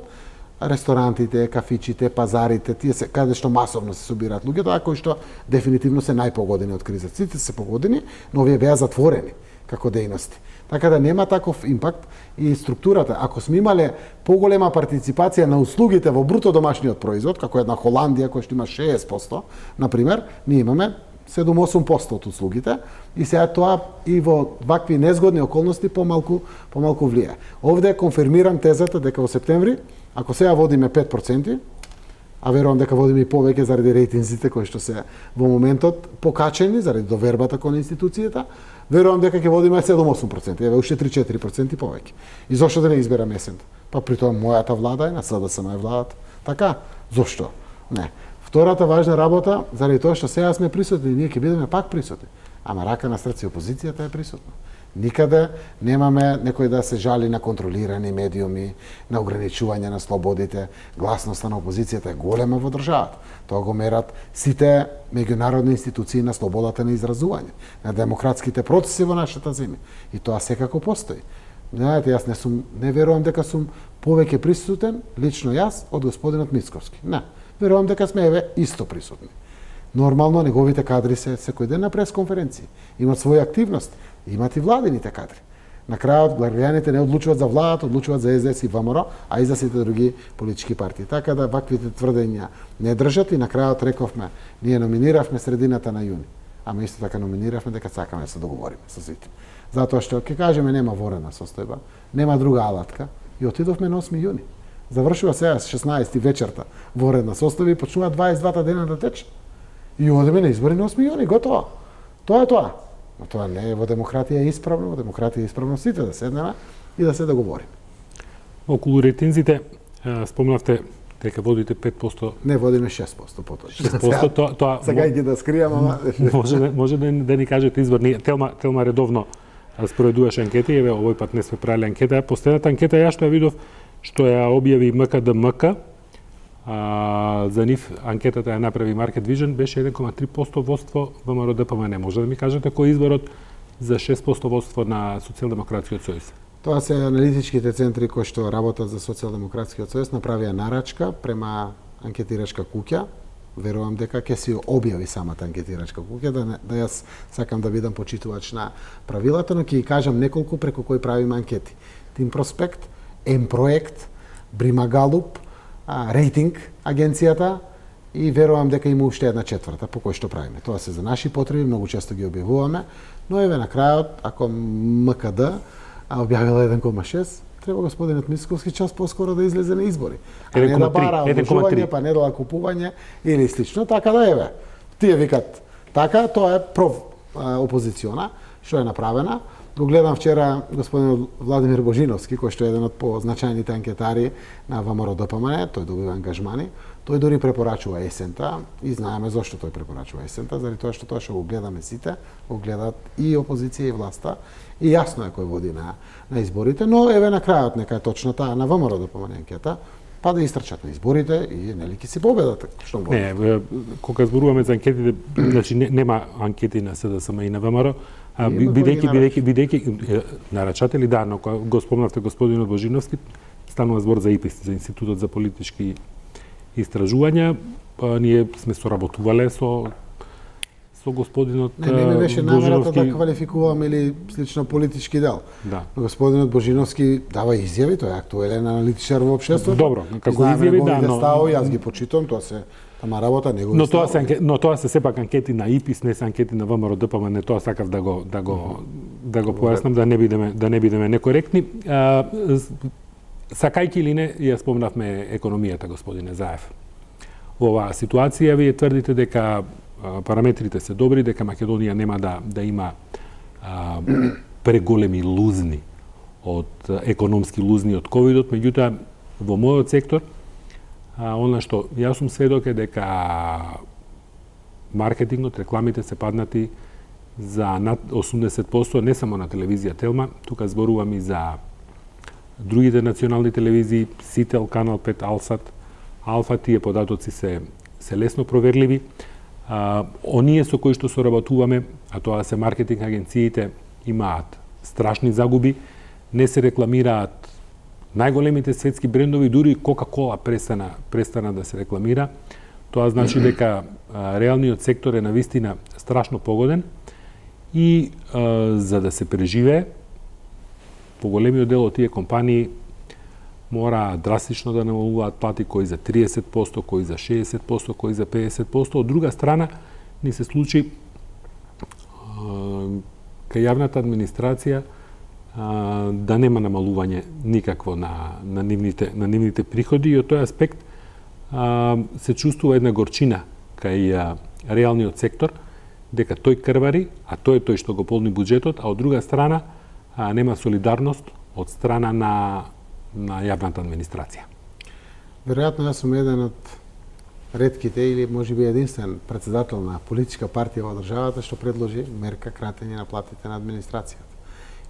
ресторантите, кафичите, пазарите, тие се каде што масовно се собираат луѓето, а кои што дефинитивно се најпогодени од кризата. Сите се погодени, но овие беа затворени како дејности. Така да нема таков импакт и структурата. Ако сме имале поголема партиципација на услугите во бруто домашниот производ, како една Холандија која што има 60%, например, ние имаме 7-8% од услугите, и сега тоа и во вакви незгодни околности помалку влија. Овде конфирмирам тезата дека во септември, ако сега водиме 5%, а верувам дека водиме и повеќе заради рейтинзите кои што се во моментот покачени заради довербата кон институцијата, верувам дека ќе водиме 7-8%, еве уште 3-4% повеќе. И зошто да не изберам есента? Па при тоа мојата влада е на СДСМ владата. Така, зошто? Не. Втората важна работа, заради тоа што сега сме присутни, ние ќе бидеме пак присутни. Ама рака на срце опозицијата е присутна. Никаде немаме некој да се жали на контролирани медиуми, на ограничување на слободите. Гласноста на опозицијата е голема во државата. Тоа го мерат сите меѓународни институции на слободата на изразување, на демократските процеси во нашата земја. И тоа секако постои. Знаете, јас не верувам дека сум повеќе присутен, лично јас, од господинот Мицковски. Не. Верувам дека сме еве исто присутни. Нормално неговите кадри се секој ден на пресконференции. Имат своја активност, имат и владините кадри. На крајот граѓаните не одлучуваат за владата, одлучуваат за СДС и ВМРО, а и за сите други политички партии. Така да ваквите тврдења не држат, и на крајот рековме, ние номиниравме средината на јуни. Ама исто така номиниравме дека сакаме да се договориме со сите. Затоа што ќе кажеме нема ворена состојба, нема друга алатка, и отидовме на 8 јуни. Завршува сега 16 вечерта воредна состојба и почнува 22 дена да тече. И одиме на избори на 8 јуни, готово. Тоа е тоа. Но тоа не е во демократија исправно, во демократија исправно сите да седнеме и да се договориме. Околу рейтинзите спомнавте дека водите 5%. Не, водиме 6% поточно. 6% тоа сега ги да скријам, ама може да ни кажете избор. Телма редовно споредуваше анкети, еве овој пат не сме правиле анкета. Последната анкета ја што ја видов, што ја објави МКДМК, за нив анкетата ја направи Market Vision, беше 1,3% водство ВМРО ДПМН. Може да ми кажете кој е изборот за 6% водство на Социјалдемократскиот сојуз? Тоа се аналитичките центри кои што работат за Социјалдемократскиот сојуз направија нарачка према анкетирачка куќа. Верувам дека ќе си објави самата анкетирачка куќа, да јас сакам да бидам почитувач на правилата, но ќе ги кажам неколку преку кои правиме анкети. Тим Проспект, М-проект, Брима Галуп, рейтинг агенцијата, и верувам дека има уште една четврта по кој што правиме. Тоа се за наши потреби, многу често ги објавуваме, но еве на крајот, ако МКД објавила 1,6, треба господинот Мицковски час поскоро да излезе на избори. А не да бара одлучување, па не да купување или слично. Така да еве, тие викат така, тоа е опозициона, што е направена. Го гледам вчера господин Владимир Божиновски, кој што е еден од позначајните анкетари на ВМРО ДПМН, тој добива ангажмани. Тој дори препорачува есента, и знаеме зошто тој препорачува есента, заради тоа што го гледаме сите, го гледат и опозиција и власта, и јасно е кој води на изборите, но еве на крајот нека е точно таа на ВМРО ДПМН анкета, па да истрчат на изборите и нели ќе се победат, што го. Не, кога зборуваме за анкетите, значи нема анкети на СДСМ и на ВМРО, бидејќи нарачатели, да, но кога го спомнавте господинот Божиновски, станува збор за ИПИС, за Институтот за политички истражувања. Ние сме соработувале со со господинот Не ми беше намерата Божиновски. да квалификувам или слично политички дел. Да. Господинот Божиновски дава изјави, тој е актуелен аналитичар во општеството. Добро, како Знаеме изјави, неговите да, но- ставови, јас ги почитувам, тоа се тама работа негови Но тоа ставови. се тоа се сепак анкети на ИПИС, не се анкети на ВМРО ДПМН, не тоа сакав да го појаснам, да не бидеме некоректни. Сакајќи или не, ја спомнавме економијата, господине Заев. Во оваа ситуација вие тврдите дека параметрите се добри, дека Македонија нема да има преголеми лузни економски лузни од ковидот, меѓутоа во мојот сектор она што јас сум сведок е дека маркетингот, рекламите се паднати за над 80%, не само на телевизија Телма, тука зборувам и за другите национални телевизии, Сител, Канал 5, Алсат, Алфа, тие податоци се лесно проверливи. Оние со кои што соработуваме, а тоа се маркетинг агенциите, имаат страшни загуби, не се рекламираат најголемите светски брендови, дури Кока-Кола престана да се рекламира. Тоа значи дека реалниот сектор е навистина страшно погоден и за да се преживее, поголемиот дел од тие компании мора драстично да намалуваат плати, кои за 30%, кои за 60%, кои за 50%. Од друга страна, ни се случи кај јавната администрација да нема намалување никакво на нивните приходи, и од тој аспект се чувствува една горчина кај реалниот сектор, дека тој крвари, а тој е тој што го полни буџетот, а од друга страна нема солидарност од страна на јавната администрација. Веројатно јас сум еден од ретките или можеби единствен претседател на политичка партија во државата што предложи мерка кратење на платите на администрацијата.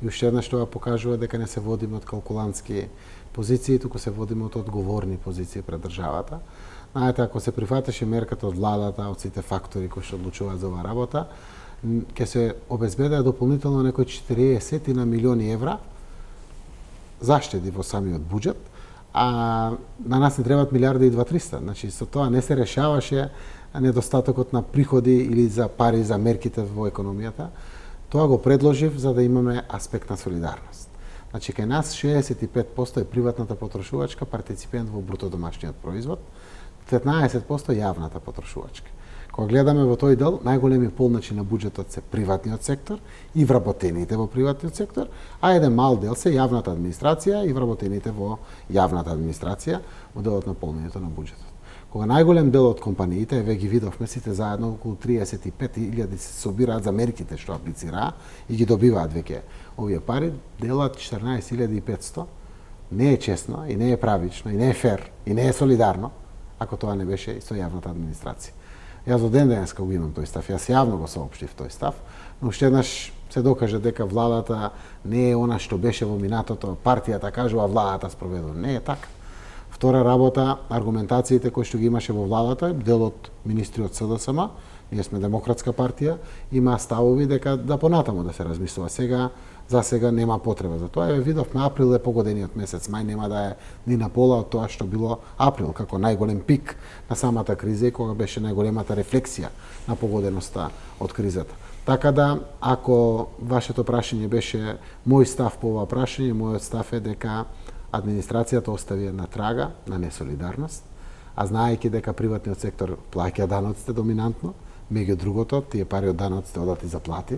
И уште еднаш тоа покажува дека не се водиме од калкулантски позиции, туку се водиме од одговорни позиции пред државата. Знаете, ако се прифатеше мерката од владата, од сите фактори кои што одлучуваат за оваа работа, ќе се обезбедеа дополнително некои 40 на милиони евра заштеди во самиот буџет, а на нас не требаат милиарда и 2-300. Значи, со тоа не се решаваше недостатокот на приходи или за пари за мерките во економијата. Тоа го предложив за да имаме аспект на солидарност. Значи, кај нас 65% е приватната потрошувачка партиципент во бруто домашниот производ, 15% јавната потрошувачка. Кога гледаме во тој дел, најголеми полначи на буџетот се приватниот сектор и вработените во приватниот сектор, а еден мал дел се јавната администрација и вработените во јавната администрација во делот на полнењето на буџетот. Кога најголем дел од компаниите, еве ги видовме сите заедно, околу 35.000 се собираат за мерките што аплицираа и ги добиваат веќе овие пари, делат 14.500, не е честно и не е правично и не е фер и не е солидарно ако тоа не беше и со јавната администрација. Јас до ден денеска го имам тој став, јас јавно го соопштив тој став, но уште еднаш се докаже дека владата не е она што беше во минатото, партијата кажува владата спроведува. Не е така. Втора работа, аргументациите кои што ги имаше во владата, дел од министри од СДСМ, ние сме демократска партија, има ставови дека да понатаму да се размислува. За сега нема потреба за тоа. Еве видовме април е погодениот месец, мај нема да е ни на пола од тоа што било април, како најголем пик на самата криза и кога беше најголемата рефлексија на погоденоста од кризата. Така да, ако вашето прашање беше мој став по ова прашање, мојот став е дека администрацијата остави една трага на несолидарност, а знаејќи дека приватниот сектор плаќа даноците доминантно, меѓу другото, тие пари од даноците одат и за плати,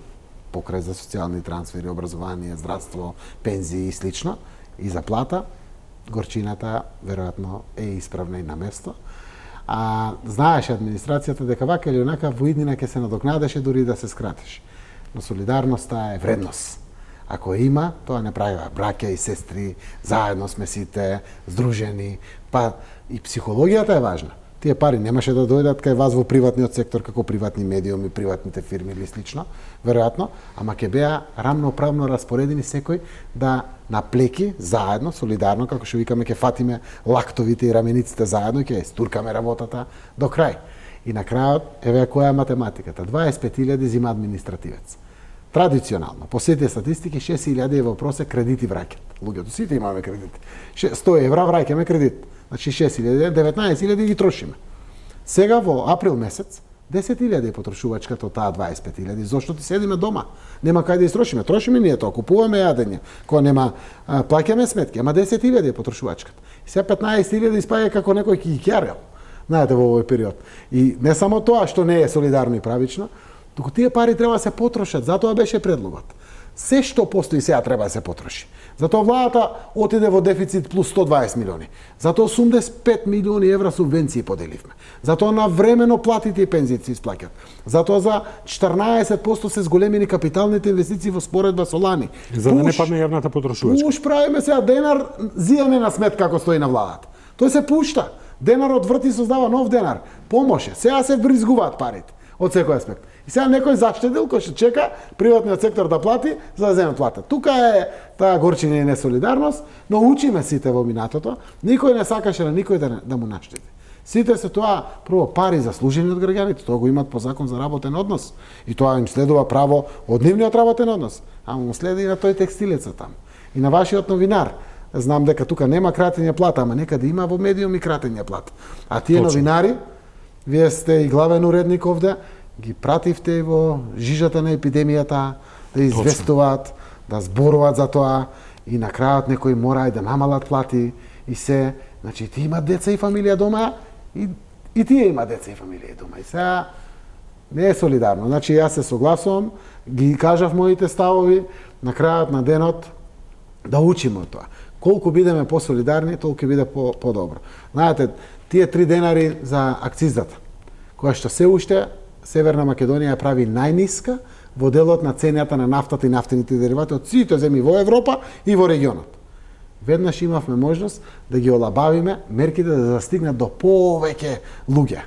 покрај за социјални трансфери, образование, здравство, пензии и слично, и за плата, горчината веројатно е исправна и на место. А знаеше администрацијата дека вака или онака во иднина ќе се надокнадеше дури да се скратеше. Но солидарноста е вредност. Ако има, тоа не правива браќа и сестри, заедно сме сите здружени, па и психологијата е важна. Тие пари немаше да дојдат кај вас во приватниот сектор како приватни медиуми, приватните фирми или слично, веројатно, ама ќе беа рамноправно распоредени секој да наплеки заедно, солидарно, како што викаме, ќе фатиме лактовите и рамениците заедно и ќе стуркаме работата до крај. И на крајот, еве која е математиката. 25.000 зима административец. Традиционално, по сите статистики, 6.000 евро просек кредити враќат. Луѓето сите имаме кредити. 100 евра враќаме кредит. Значи 6.000, 19.000 ги трошиме. Сега во април месец, 10.000 е потрошувачката од таа 25.000. Зошто ти седиме дома? Нема кај да истрошиме. Трошиме ние тоа, купуваме јадење, кога нема плаќаме сметки, ама 10.000 е потрошувачката. И сега 15.000 испаѓа како некој ки ги ќарел. Знаете, во овој период. И не само тоа што не е солидарно и правично, туку тие пари треба да се потрошат, затоа беше предлогот. Се што постои сега треба да се потроши. Затоа владата отиде во дефицит плюс 120 милиони. Затоа 85 милиони евра субвенции поделивме. Затоа навремено платите и пензиите се исплаќаат. Затоа за 14% се зголемени капиталните инвестиции во споредба со лани. За да не падне јавната потрошувачка. Пуш правиме сега денар, зијане на сметка како стои на владата. Тој се пушта. Денарот врти, создава нов денар. Помоше. Сега се вризгуваат парите од секој аспект. И сега некој заштедил кој што чека приватниот сектор да плати за да земе плата. Тука е таа горчина и несолидарност, но учиме сите во минатото. Никој не сакаше на никој да му наштеди. Сите се тоа прво пари заслужени од граѓаните, тоа го имаат по закон за работен однос и тоа им следува право од нивниот работен однос, ама му следи и на тој текстилеца там. И на вашиот новинар. Знам дека тука нема кратење плата, ама некаде има во медиуми кратење плата. А тие новинари, вие сте и главен уредник овде, ги пративте и во жижата на епидемијата, да известуваат, да зборуваат за тоа и на крајот некои мора и да намалат плати и се. Значи, ти има деца и фамилија дома и тие има деца и фамилија дома. И сега не е солидарно. Значи, јас се согласувам, ги кажав моите ставови, на крајот на денот да учиме од тоа. Колку бидеме посолидарни, толку биде подобро. Знаете, тие 3 денари за акцизата, која што се уште Северна Македонија ја прави најниска во делот на цената на нафтата и нафтените деривати од сите земји во Европа и во регионот. Веднаш имавме можност да ги олабавиме мерките да застигнат до повеќе луѓе,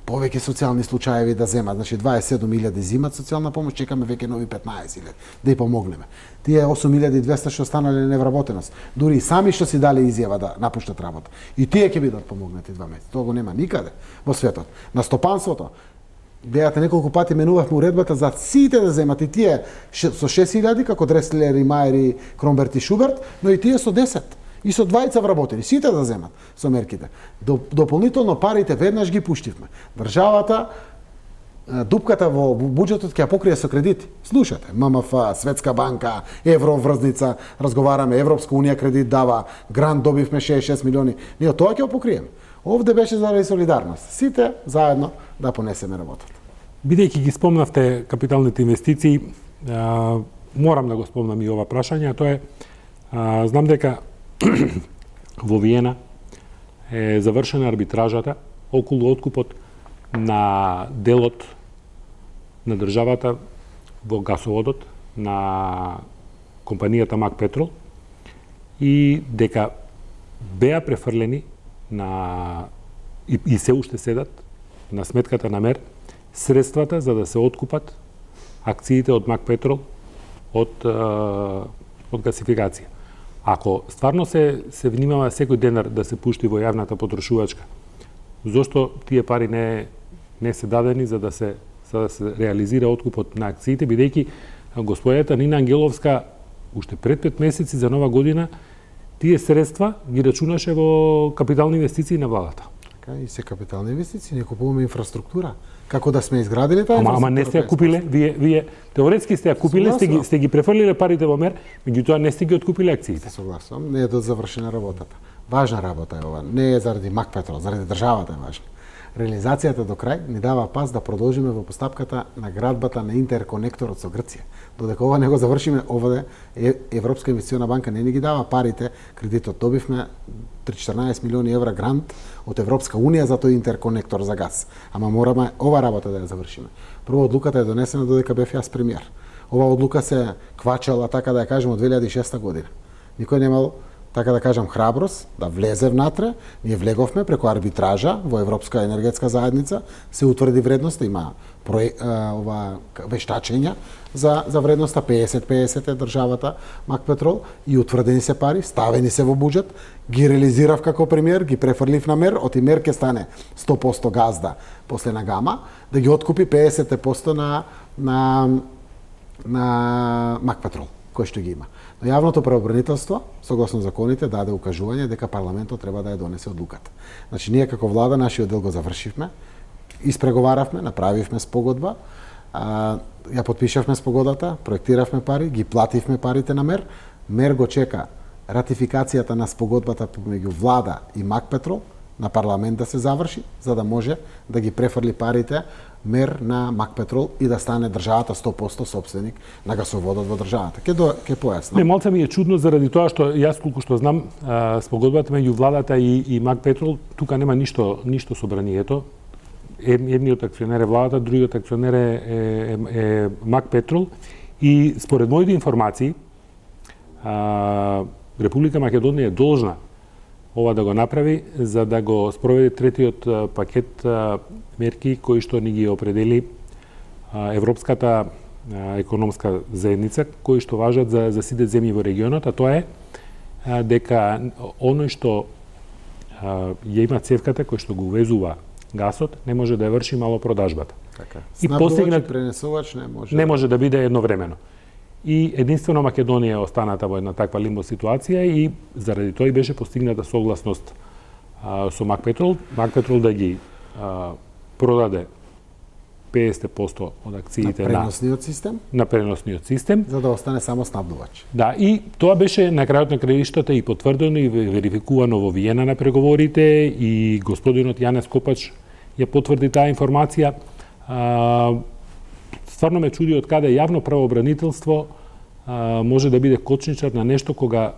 повеќе социјални случаеви да земат. Значи 27.000 зимат социјална помош, чекаме веќе нови 15.000 да ја помогнеме. Тие 8.200 што останале на невработеност, дури и сами што си дали изјава да напуштат работа. И тие ќе бидат помогнати 2 месеци. Тоа го нема никаде во светот. На стопанството беате неколку пати менувавме уредбата за сите да земат и тие со 6.000 како Дреслер и Мајер и Кромберт и Шуберт, но и тие со 10 и со 20 вработени, сите да земат со мерките. Дополнително парите веднаш ги пуштивме. Државата дупката во буџетот ќе ја покрие со кредити. Слушате, ММФ, Светска банка, евроврзница, разговараме, Европска унија кредит дава, грант добивме 66 милиони. Ние тоа ќе го покриеме. Овде беше заради солидарност. Сите заедно да понесеме работата. Бидејќи ги спомнавте капиталните инвестиции, морам да го спомнам и ова прашање, а тоа е, знам дека во Виена е завршена арбитражата околу откупот на делот на државата во гасоводот на компанијата Мак Петрол и дека беа префрлени на и се уште седат на сметката на МЕР средствата за да се откупат акциите од Мак Петрол од гасификација. Ако стварно се внимава секој денар да се пушти во јавната потрошувачка, зошто тие пари не се дадени за да се реализира откупот на акциите, бидејќи господјата Нина Ангеловска уште пред 5 месеци за нова година тие средства ги рачунаше во капитални инвестиции на владата. Така и се капитални инвестиции, не купуваме инфраструктура. Како да сме изградили таа инфраструктура? Ама не сте ја купиле, вие теоретски сте ја купиле, сте ги префрлиле парите во МЕР, меѓутоа не сте ги откупиле акциите. Согласувам, не е до завршена работата. Важна работа е ова, не е заради Мак Петрол, заради државата е важна. Реализацијата до крај ни дава пас да продолжиме во постапката на градбата на интерконекторот со Грција. Додека ова не го завршиме, овде Европска инвестициона банка не ни ги дава парите, кредитот добивме 14 милиони евра грант од Европска унија за тој интерконектор за газ. Ама мораме ова работа да ја завршиме. Прво одлуката е донесена додека бев јас премиер. Ова одлука се квачала, така да ја кажем, од 2006 година. Никој немал, така да кажам, храброст да влезе внатре. Ние влеговме преку арбитража во Европска енергетска заедница, се утврди вредноста, има ова вештачења за вредноста 50-50 е државата Мак Петрол и утврдени се пари, ставени се во буџет, ги реализирав како премиер, ги префрлив на МЕР, оти МЕР ќе стане 100% газда после на Гама, да ги откупи 50% на Мак Петрол, кој што ги има. Но јавното правобранителство, согласно законите, даде укажување дека парламентот треба да ја донесе одлуката. Значи, ние како влада, нашиот дел го завршивме, испреговаравме, направивме спогодба, ја потпишавме спогодата, проектиравме пари, ги плативме парите на МЕР. МЕР го чека ратификацијата на спогодбата помеѓу влада и Макпетрол на парламент да се заврши, за да може да ги префрли парите МЕР на Макпетрол и да стане државата 100% собственик на гасоводот во државата. Ке појаснам. Не, малце ми е чудно заради тоа што јас колку што знам спогодбата меѓу владата и Макпетрол, тука нема ништо собранието. Едниот акционер е владата, другиот акционер е Макпетрол и според моите информации Република Македонија е должна ова да го направи за да го спроведе третиот пакет мерки кои што ни ги определи Европската економска заедница, кои што важат за сите земји во регионот, а тоа е дека оној што ја има цевката кој што го увезува гасот, не може да ја врши малопродажбата. Така. И постигнат пренесувач не може да биде едновремено. И единствено Македонија останата во една таква лимбо ситуација и заради тоа и беше постигната согласност со Макпетрол. Макпетрол да ги продаде 50% од акциите на преносниот систем, за да остане само снабдувач. Да, и тоа беше на крајот на краиштата и потврдено и верификувано во Виена на преговорите и господинот Јанес Копач ја потврди таа информација. Стварно ме чуди од каде јавно правообранителство може да биде кочничар на нешто кога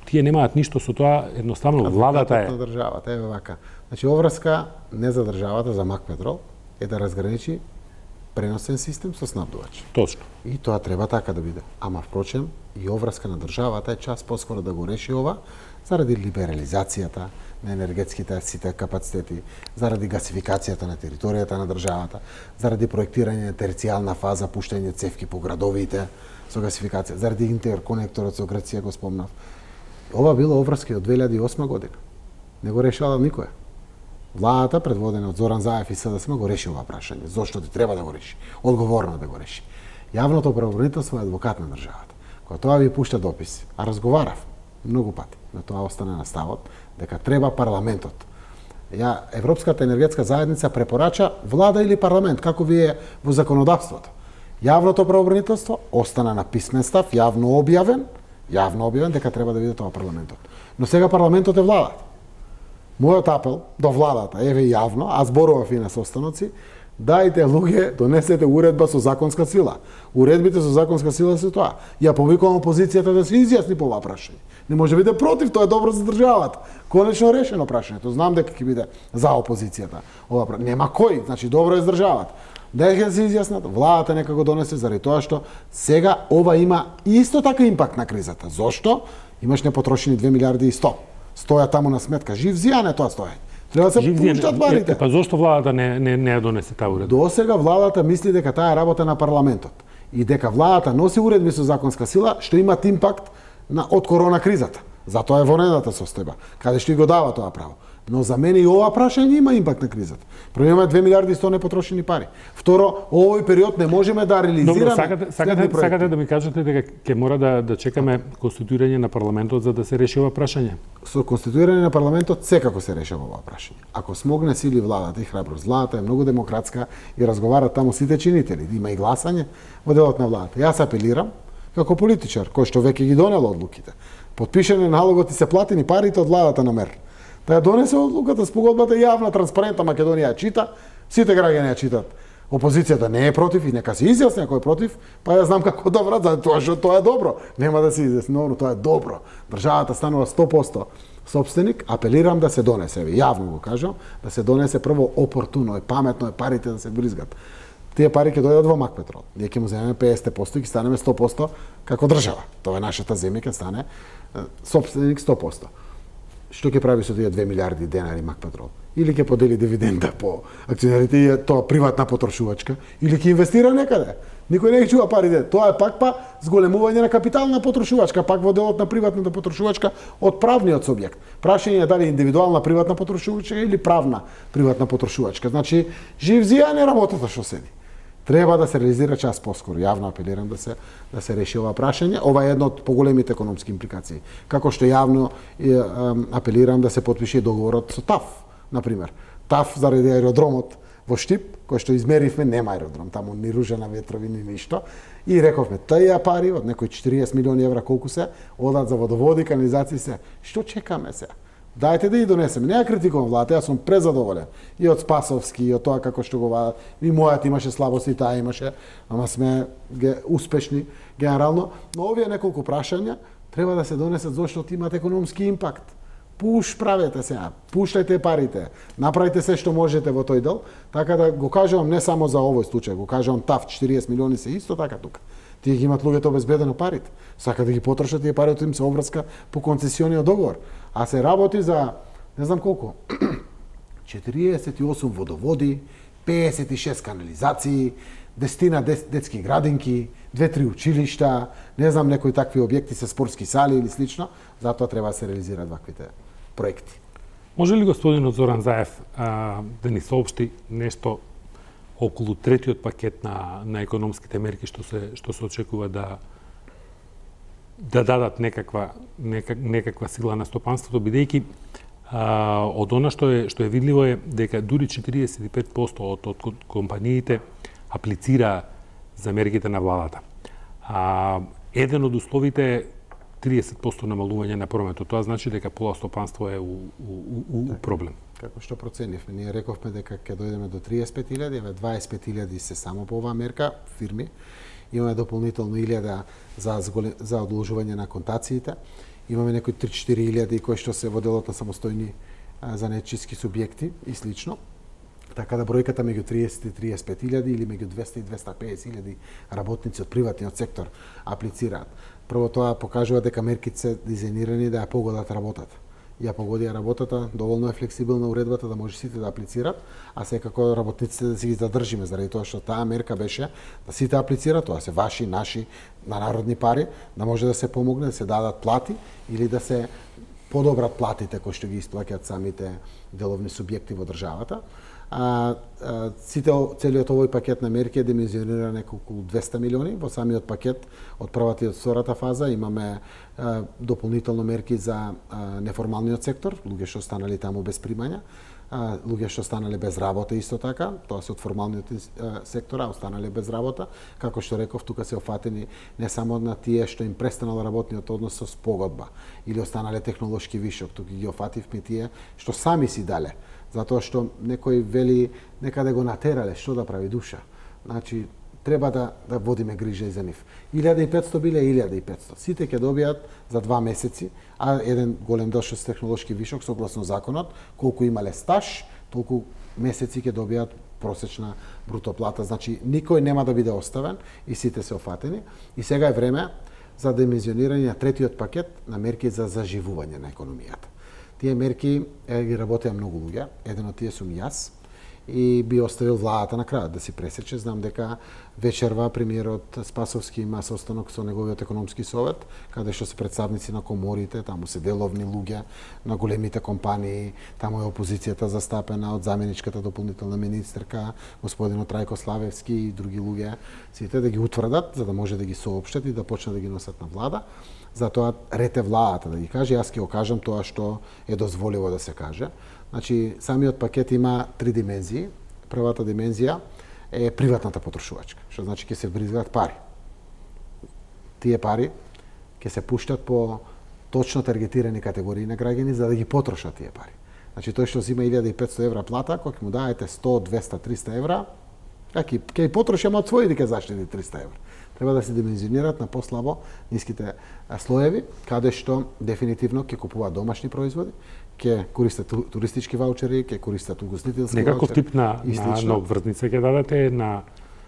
тие немаат ништо со тоа, едноставно владата е. На државата е вака. Значи оврска не за државата, за Макпетрол е да разграничи преносен систем со снабдувач. Точно. И тоа треба така да биде. Ама впрочем и оврска на државата е час поскоро да го реши ова заради либерализацијата на енергетските сите капацитети, заради гасификацијата на територијата на државата, заради проектирање на терцијална фаза, пуштање цевки по градовите со гасификација, заради интерконекторот со Грција го спомнав. Ова било оврски од 2008 година. Не го решала никој. Владата, предводена од Зоран Заев и СДСМ, го реши ова прашање. Зошто ти треба да го реши? Одговорно да го реши. Јавното правообранителство е адвокат на државата. Кога тоа ви пушта дописи, а разговарав многу пати, но тоа остане на ставот дека треба парламентот. Европската енергетска заедница препорача влада или парламент, како ви е во законодавството. Јавното правообранителство остана на писмен став, јавно објавен дека треба да биде тоа парламентот. Но сега парламентот е владата. Мојот апел до владата, еве јавно, а зборував и на состаноци, дајте луѓе, донесете уредба со законска сила. Уредбите со законска сила се тоа. Ја повикувам опозицијата да се изјасни по ова прашање. Не може да биде против, тоа е добро за државата. Конечно решено прашањето. Знам дека ќе биде за опозицијата. Ова нема кој, значи добро е за државата. Дека се изјаснат, владата нека го донесе заради тоа што сега ова има исто така импакт на кризата. Зошто? Имаш непотрошени 2 милиарди и 100. Стоја таму на сметка. Жив зијан е тоа стоење. Треба да се пуштат парите. Па зошто владата не ја донесе таа уредба? До сега владата мисли дека таа е работа на парламентот и дека владата носи уредби со законска сила што имат импакт од корона кризата. Затоа е вонедата состојба, каде што и го дава тоа право. Но за мене и ова прашање има импакт на кризата. Прво имаме 2 милиарди и 100 непотрошени пари. Второ, овој период не можеме да реализираме. Добро, сакате да ми кажете дека ќе мора да чекаме конституирање на парламентот за да се реши ова прашање? Со конституирање на парламентот секако се решава ова прашање. Ако смогне сили владата и храброст, владата е многу демократска и разговараат таму сите чинители, има и гласање во делот на владата. Јас апелирам како политичар кој што веќе ги донел одлуките. Потпишане налогот и се платени парите од владата на МЕР. Да ја донесе одлуката, спогодбата јавна, транспарентна, Македонија ја чита, сите граѓани ја читат. Опозицијата не е против и нека се изјасни ако е против, па ја знам како да врат, затоа што тоа е добро. Нема да се изјасни, но тоа е добро. Државата станува 100% собственик, апелирам да се донесе, јавно го кажам, да се донесе прво опортуно и паметно е парите да се бризгат. Тие пари ќе дојдат во Макпетрол. Ние ќе му земеме 50% и ќе станеме 100% како држава. Тоа е нашата земја, ќе стане собственик 100%. Што ќе прави со тие 2 милиарди денари Макпетрол? Или ќе подели дивиденда по акционерите и тоа приватна потрошувачка, или ќе инвестира некаде. Никој не ги чува парите. Тоа е пак зголемување на капитална потрошувачка, пак во делот на приватната потрошувачка од правниот субјект. Прашање е дали индивидуална приватна потрошувачка или правна приватна потрошувачка. Значи, жив зијан е работата што седи. Треба да се реализира час поскоро. Јавно апелирам да се реши ова прашање. Ова е една од поголемите економски импликации. Како што јавно апелирам да се потпише договорот со ТАФ, например. ТАФ заради аеродромот во Штип, кој што измеривме, нема аеродром, таму ни ружа на ветрови, ни ништо. И рековме, тие пари од некои 40 милиони евра колку се, одат за водоводи, канализации се. Што чекаме се? Дајте да ги донесеме. Не ја критикувам владата, јас сум презадоволен. И од Спасовски, и од тоа како што го вадат. И мојот имаше слабости, таа имаше, ама сме успешни генерално. Но овие неколку прашања треба да се донесат зашто имаат економски импакт. Правете сега, пуштајте парите, направите се што можете во тој дел, така да го кажувам не само за овој случај, го кажувам ТАФ 40 милиони се исто така тука. Тие ги имат луѓето обезбедено парите. Сака да ги потрошат тие парите, им се обврска по концесиониот договор. А се работи за не знам колку 48 водоводи, 56 канализации, 10 детски градинки, 2-3 училишта, не знам некои такви објекти со спортски сали или слично, затоа треба да се реализираат ваквите проекти. Може ли господинот Зоран Заев да ни соопшти нешто околу третиот пакет на економските мерки што се очекува да дадат некаква сила на стопанството, бидејќи од она што е видливо е дека дури 45% од компаниите аплицира за мерките на владата. Еден од условите е 30% намалување на прометот. Тоа значи дека пола стопанство е у проблем. Како што проценивме, ние рековме дека ќе дојдеме до 35.000, еве 25.000 се само по оваа мерка фирми. Имаме дополнително 1.000 за одложување на контациите. Имаме некои 3-4.000 кои што се во делот на самостојни занечиски субјекти и слично. Така да бројката меѓу 30 и 35.000 или меѓу 200 и 250.000 работници од приватниот сектор аплицираат. Прво тоа покажува дека мерките се дизајнирани да ја погодат работата. Ја погоди работата, доволно е флексибилна уредбата да може сите да аплицираат, а секако работниците да си ги задржиме, заради тоа што таа мерка беше да сите аплицираат, тоа се ваши, наши, на народни пари, да може да се помогне, да се дадат плати или да се подобрат платите кои што ги исплаќаат самите деловни субјекти во државата. Целиот овој пакет на мерки е димензиониран околу 200 милиони. Во самиот пакет од првата и од втората фаза имаме дополнително мерки за неформалниот сектор, луѓе што останали таму без примања, луѓе што останале без работа исто така, тоа се од формалниот сектор, а останале без работа. Како што реков, тука се офатени не само на тие што им престанал работниот однос со спогодба или останале технолошки вишок, тука ги офативме тие што сами си дале, затоа што некој вели некаде го натерале, што да прави душа. Значи, треба да водиме грижа и за нив. 1500 биле 1500. Сите ќе добијат за 2 месеци, а еден голем дел што се технолошки вишок, согласно законот, колку имале стаж, толку месеци ќе добијат просечна бруто плата. Значи, никој нема да биде оставен и сите се офатени. И сега е време за димензионирање на третиот пакет на мерки за заживување на економијата. Тие мерки ги работеа многу луѓе, еден од тие сум јас, и би оставил владата на крајот да си пресече. Знам дека вечерва премиерот Спасовски има состанок со неговиот економски совет, каде што се представници на коморите, таму се деловни луѓе на големите компании, таму е опозицијата застапена од заменичката дополнителна министерка, господинот Трајко Славевски и други луѓе, сите да ги утврдат, за да може да ги соопштат и да почнат да ги носат на влада. Затоа рете владата да ги каже, јас ќе го кажам тоа што е дозволиво да се каже. Значи, самиот пакет има 3 димензии. Првата димензија е приватната потрошувачка, што значи ќе се бризгаат пари. Тие пари ќе се пуштат по точно таргетирани категории на граѓани за да ги потрошат тие пари. Значи, тој што зима 1500 евра плата, кога ќе му даете 100, 200, 300 евра, ќе ги потроши, ама од своји ќе заштеди 300 евра. Треба да се димензионираат на послабо ниските слоеви, каде што дефинитивно ќе купуваат домашни производи, ќе користат туристички ваучери, ќе користат угостителски ваучери. Некаков тип на обврзница ќе дадете на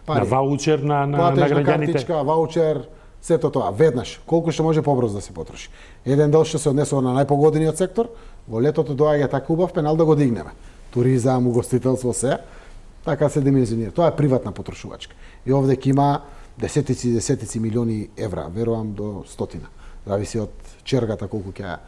ваучер на граѓаните. Картичка, ваучер, сето тоа, веднаш, колку што може побрзо да се потроши. Еден дел што се однесува на најпогодениот сектор, во летото доаѓа така убав пенал да го дигнеме. Туризам, угостителство, се, така се димензионира. Тоа е приватна потрошувачка. И овде ќе има десетици милиони евра, верувам до стотина. Зависи од чергата колку ќе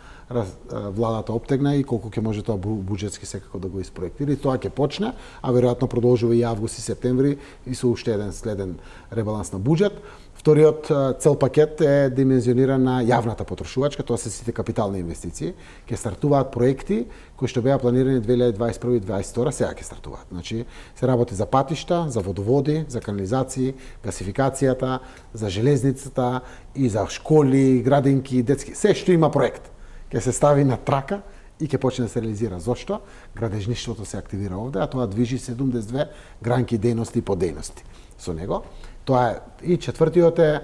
владата обтегна и колку ќе може тоа буџетски секако да го испроектира. И тоа ќе почне, а веројатно продолжува и август и септември и со уште еден следен ребаланс на буџет. Вториот цел пакет е димензиониран на јавната потрошувачка, тоа се сите капитални инвестиции. Ќе стартуваат проекти кои што беа планирани 2021 и 2022, сега ќе стартуваат. Значи, се работи за патишта, за водоводи, за канализации, гасификацијата, за железницата и за школи, градинки, детски, се што има проект ќе се стави на трака и ќе почне да се реализира. Зошто? Градежништвото се активира овде, а тоа движи 72 гранки дејности и подејности со него. Тоа е и четвртиот е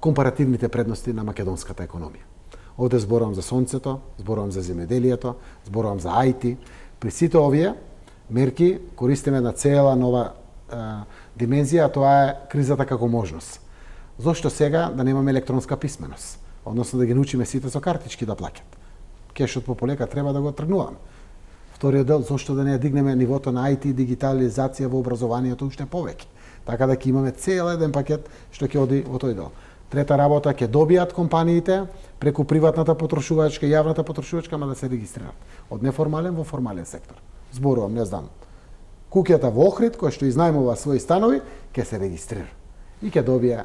компаративните предности на македонската економија. Овде зборувам за сонцето, зборувам за земјоделието, зборувам за IT. При сите овие мерки користиме на цела нова димензија, а тоа е кризата како можност. Зошто сега да немаме електронска писменост? Односно да ги научиме сите со картички да плаќат. Кешот по полека треба да го тргнуваме. Вториот дел, зошто да не дигнеме нивото на IT и дигитализација во образованието уште повеќе. Така да ќе имаме цел еден пакет што ќе оди во тој дел. Трета работа, ќе добијат компаниите преку приватната потрошувачка и јавната потрошувачка, ама да се регистрираат од неформален во формален сектор. Зборувам, не знам, куќата во Охрид која што изнајмува своји станови, ќе се регистрира и ќе добие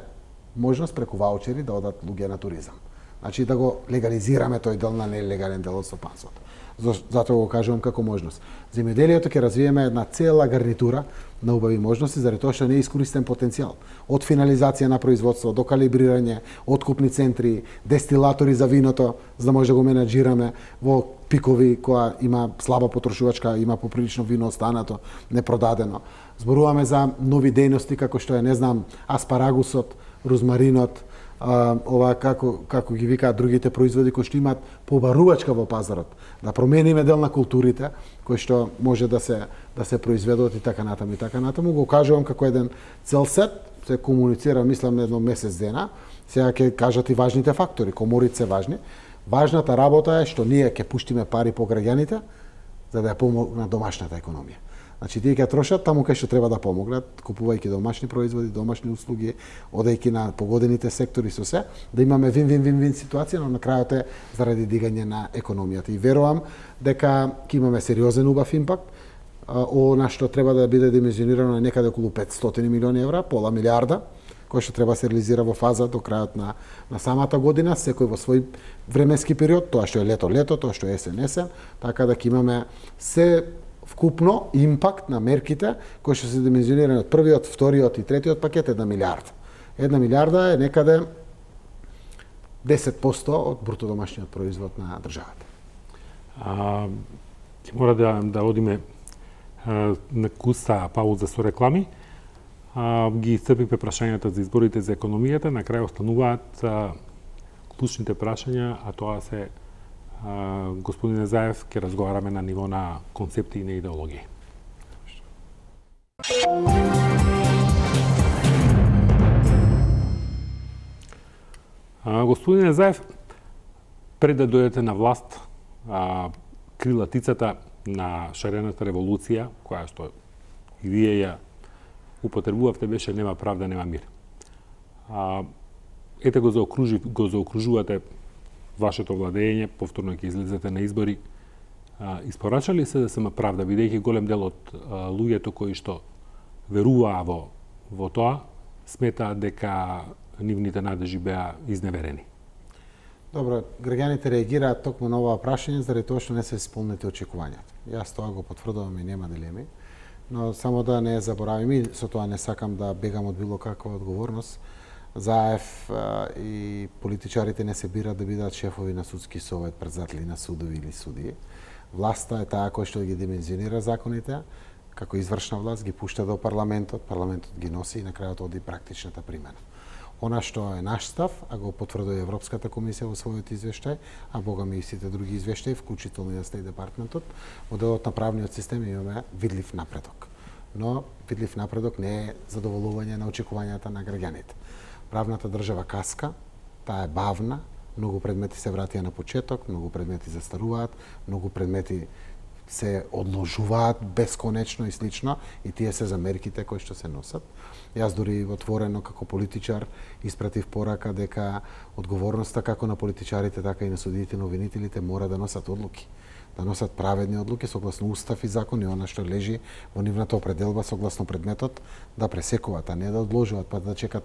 можност преку ваучери да одат луѓе на туризам. Значи да го легализираме тој дел на нелегален дел од стопанството. Затоа го кажувам како можност. Земјоделието ќе развиеме една цела гарнитура на убави можности, заради тоа што не е искористен потенцијал. Од финализација на производство, до калибрирање, откупни центри, дестилатори за виното, за да може да го менаџираме во пикови која има слаба потрошувачка, има поприлично вино останато, непродадено. Зборуваме за нови дејности како што е, не знам, аспарагусот, розмаринот, ова како ги викаат другите производи кои што имаат побарувачка во пазарот, да промениме дел на културите кои што може да се произведуваат и така натаму и така натаму. Го кажувам како еден цел сет, се комуницира мислам едно месец дена. Сега ќе кажат и важните фактори, коморите се важни. Важната работа е што ние ќе пуштиме пари по граѓаните за да ја помогнат домашната економија. Значи, тие ќе трошат таму кај што треба да помогнат, купувајќи домашни производи, домашни услуги, одејќи на погодените сектори со се, да имаме вин-вин-вин ситуација, но на крајот е заради дигање на економијата. И верувам дека ќе имаме сериозен убав импакт, она што треба да биде димензионирано е некаде околу 500 милиони евра, пола милиарда, кој што треба се реализира во фаза до крајот на самата година, секој во свој временски период, тоа што е лето, тоа што е есен, така да ќе имаме се вкупно импакт на мерките кои што се димензионирани од првиот, вториот и третиот пакет 1 милиарда. 1 милиарда е некаде 10% од бруто домашниот производ на државата. Ќе мора да одиме на куста пауза со реклами. Ги исцрпивме прашањата за изборите за економијата, на крај остануваат клучните прашања, а тоа се господине Заев, ќе разговараме на ниво на концепти и на идеологија. Господине Заев, пред да дојдете на власт, крилатицата на шарената револуција, која што и вие ја употребувавте, беше нема правда, нема мир. Ете го заокружувате вашето владење, повторно ќе излезете на избори. Испорачали се да се има правда, бидејќи голем дел од луѓето кои што веруваа во тоа, сметаат дека нивните надежи беа изневерени? Добро, граѓаните реагираат токму на оваа прашање заради тоа што не се исполнети очекувањата. Јас тоа го потврдувам и нема дилеми, но само да не забораваме, и со тоа не сакам да бегам од било каква одговорност. Заев и политичарите не се бират да бидат шефови на судски совет, председатели на судови или судии. Власта е таа која што ги димензионира законите, како извршна власт ги пушта до парламентот, парламентот ги носи и на крајот оди практичната примена. Она што е наш став, а го потврдува Европската комисија во својот извештај, а богами и сите други извештаи, вклучително и на Стејт департментот, во делот на правниот систем имаме видлив напредок. Но видлив напредок не е задоволување на очекувањата на граѓаните. Правната држава каска, таа е бавна, многу предмети се вратија на почеток, многу предмети застаруваат, многу предмети се одложуваат бесконечно и слично, и тие се за мерките кои што се носат. Јас дури отворено како политичар испратив порака дека одговорноста како на политичарите, така и на судиите, на обвинителите мора да носат одлуки. Да носат праведни одлуки согласно устав и закон и она што лежи во нивната определба согласно предметот, да пресекуваат, а не да одложуваат, па да чекат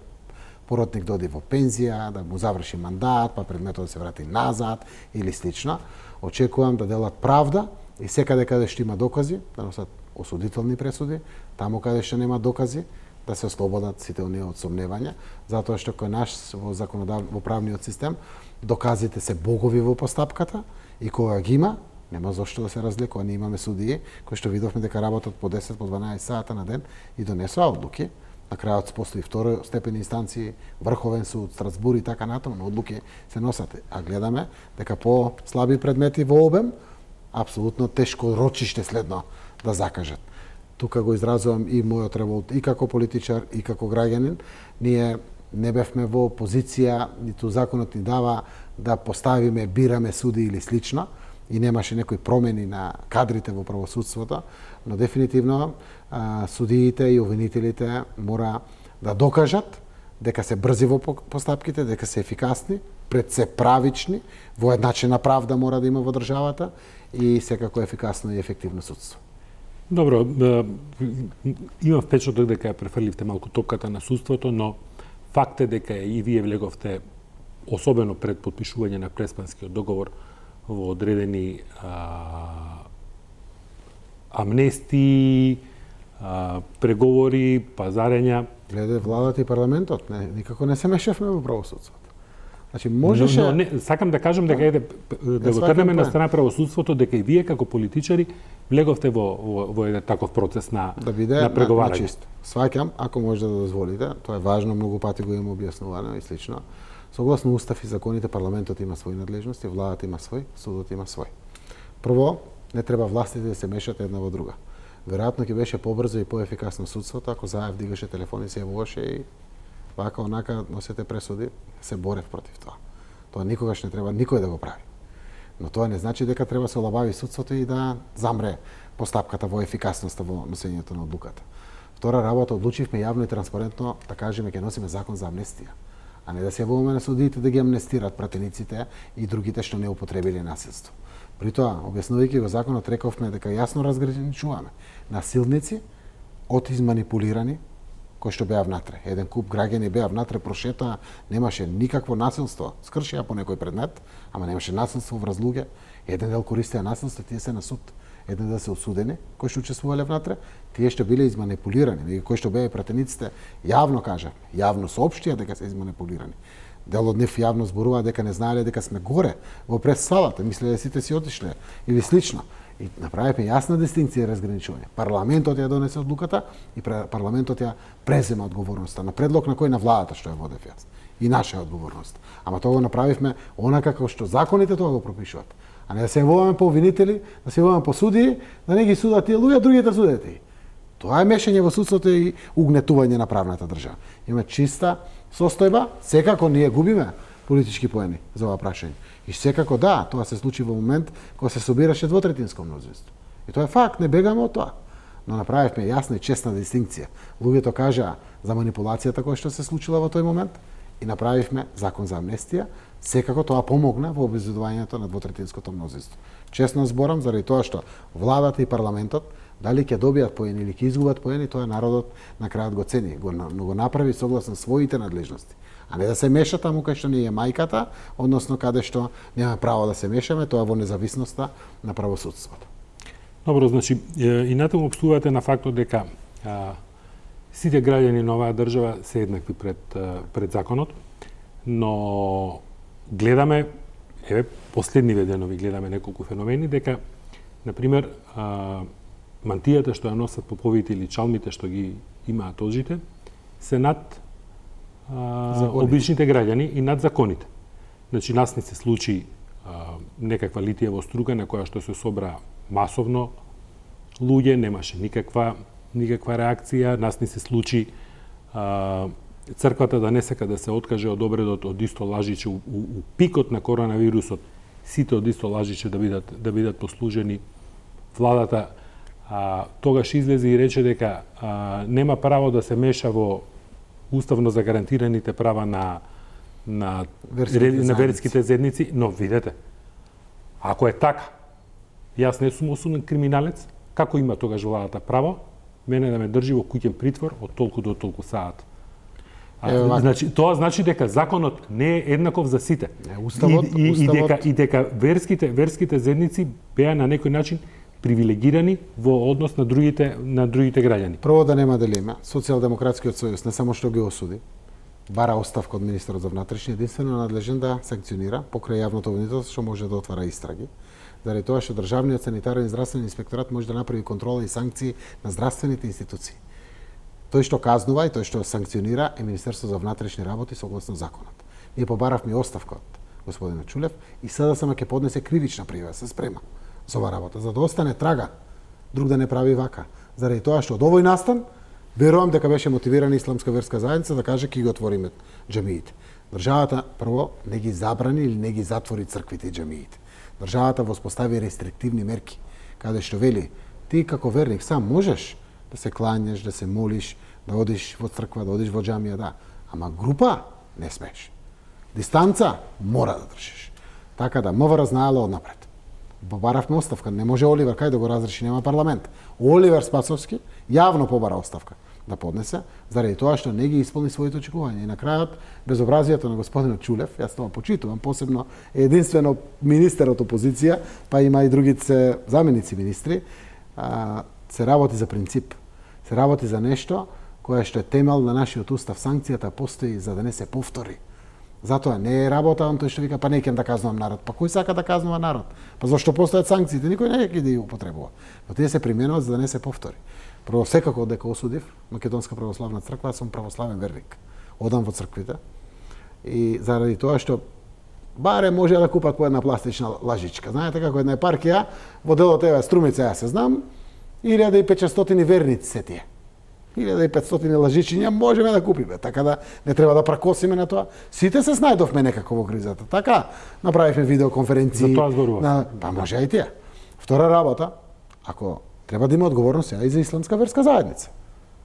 поротник да оди во пензија, да му заврши мандат, па предметот да се врати назад или слично. Очекувам да делат правда и секаде каде што има докази, да носат осудителни пресуди, таму каде што нема докази, да се ослободат сите оние од сомневања, затоа што кој наш во правниот систем доказите се богови во постапката и кога ги има, нема зошто да се разликува. Ние имаме судии кои што видовме дека работат по 10, по 12 сата на ден и донесоа одлуки. На крајот постои второстепени инстанции, Врховен суд, Страсбур и така натаму, но одлуки се носат. А гледаме дека по слаби предмети во обем, апсолутно тешко рочиште следно да закажат. Тука го изразувам и мојот револт и како политичар и како граѓанин. Ние не бевме во позиција, ниту законот ни дава да поставиме, бираме суди или слично, и немаше некои промени на кадрите во правосудството, но дефинитивно судиите и обвинителите мора да докажат дека се брзи во постапките, дека се ефикасни, пред се правични, воедначена правда мора да има во државата и секако ефикасно и ефективно судство. Добро, имам впечаток дека ја префрливте малку топката на судството, но факт е дека и вие влеговте, особено пред подпишување на Преспанскиот договор, во одредени амнестии, преговори, пазарења. Гледа, владата и парламентот никако не се мешавме во правосудството. Значи можеше... Но не, сакам да кажам дека да го трнеме на страна правосудството, дека и вие како политичари влеговте во еден таков процес на преговарање. На чисто. Сваќам, ако може да дозволите, тоа е важно, многу пати го имам објаснувано и слично. Согласно устав и законите, парламентот има своји надлежности, владата има свој, судот има свој. Прво, не треба властите да се мешат една во друга. Веројатно ќе беше побрзо и поефикасно судството ако Заев дигаше телефон и се јавуваше и вака онака носете пресуди, се борев против тоа. Тоа никогаш не треба никој да го прави. Но тоа не значи дека треба се олабави судството и да замре постапката во ефикасноста во носењето на одлуката. Втора работа, одлучивме јавно и транспарентно да кажеме ќе носиме закон за амнестија, а не да се јавуваме на судиите да ги амнестират пратениците и другите што не употребиле насилство. При тоа, објаснувајќи го законот, рековме дека јасно разграничуваме насилници од изманипулирани кои што беа внатре. Еден куп граѓани беа внатре, прошетаа, немаше никакво насилство, скршија по некој предмет, ама немаше насилство врз луѓе. Еден дел користеа насилство, тие се на суд. Еден дел се осудени, кои што учествувале внатре, тие што биле изманипулирани, кои што беа пратениците, јавно кажавме, јавно соопштија дека се изманипулирани. Дел од нив јавно зборува дека не знаеле дека сме горе во прес-салата, мислеле сите си отишле или слично. И направивме јасна дистинкција и разграничување. Парламентот ја донесе одлуката и парламентот ја презема одговорноста на предлог на кој на владата што ја водев јас. И наша е одговорност. Ама тоа го направивме онака како што законите тоа го пропишуваат. А не да се јавуваме по обвинители, да се јавуваме по судии, да не ги судат тие луѓе, другите судете и. Тоа е мешање во судството и угнетување на правната држава. Има чиста состојба, секако ние губиме политички поени за ова прашање. И секако да, тоа се случи во момент кога се собираше двотретинско мнозинство. И тоа е факт, не бегаме од тоа. Но направивме јасна и честна дистинкција. Луѓето кажаа за манипулацијата која што се случила во тој момент и направивме закон за амнестија. Секако тоа помогна во обезбедувањето на двотретинското мнозинство. Честно зборам, заради тоа што владата и парламентот дали ќе добијат поени или ќе изгубат поени, тоа народот на крајот го цени, но го направи согласно своите надлежности. А не да се меша таму кај што не е мајката, односно каде што нема право да се мешаме, тоа во независноста на правосудството. Добро, значи и натаму опстувате на фактот дека сите граѓани на оваа држава се еднакви пред законот, но гледаме, последниве денови гледаме неколку феномени дека на пример мантијата што ја носат поповите или чалмите што ги имаат ожите се над обичните граѓани и над законите. Значи, нас не се случи некаква литиево струга на која што се собра масовно луѓе, немаше никаква реакција, нас не се случи црквата да не сака да се откаже од обредот од исто лажиче у пикот на коронавирусот, сите од исто лажиче да бидат послужени. Владата тогаш излезе и рече дека нема право да се меша во уставно загарантираните права на верските заедници, но видете, ако е така, јас не сум осуден криминалец, како има тогаш владата право мене да ме држи во куќен притвор од толку до толку саат? Значи тоа значи дека законот не е еднаков за сите. Уставот И дека верските заедници беа на некој начин привилегирани во однос на другите граѓани. Прво да нема дилема, Социјалдемократскиот сојуз не само што ги осуди, бара оставка од министерот за внатрешни, единствено надлежен да санкционира покрај јавното обвинителство што може да отвара истраги. Заради тоа што државниот санитарен и здравствен инспекторат може да направи контрола и санкции на здравствените институции. Тој што казнува и тој што санкционира е Министерството за внатрешни работи согласно законот. Ние побаравме оставка од господинот Чулев и СДСМ ќе поднесе кривична пријава, се спрема за оваа работа, за да остане трага, друг да не прави вака. Заради тоа што од овој настан, верувам дека беше мотивирана исламска верска заедница да каже ќе ги отвориме џамиите. Државата прво не ги забрани или не ги затвори црквите и џамиите. Државата воспостави рестриктивни мерки, каде што вели ти како верник сам можеш да се клањаш, да се молиш, да одиш во црква, да одиш во џамија, да, ама група не смеш. Дистанца мора да држиш. Така да МВР знаела однапред. Побаравме оставка, не може Оливер кај да го разреши, нема парламент. Оливер Спасовски јавно побара оставка да поднесе, заради тоа што не ги исполни своите очекувања. И на крајот, безобразието на господинот Чулев, јас тоа почитувам, посебно единствено министер од опозиција, па има и другите заменици министри, се работи за принцип. Се работи за нешто кое што е темел на нашиот устав. Санкцијата постои за да не се повтори. Затоа не е работа он тој што вика па не ќе да казнувам народ. Па кој сака да казнува народ? Па зашто постојат санкциите? Никој не ќе да ги употребува. Но тие се применуваат за да не се повтори. Прво секако дека осудив Македонска православна црква, сум православен верник. Одам во црквите и заради тоа што баре може да купат по една пластична лажичка. Знаете како една епархија во делот еве Струмица, јас се знам, 1500 верници се тие. 1500 лажичиња можеме да купиме, така да не треба да пракосиме на тоа. Сите се снајдовме некако во кризата. Така направивме видеоконференции. За тоа зборував. Па може и тие. Втора работа, ако треба да има одговорност и за исламска верска заедница.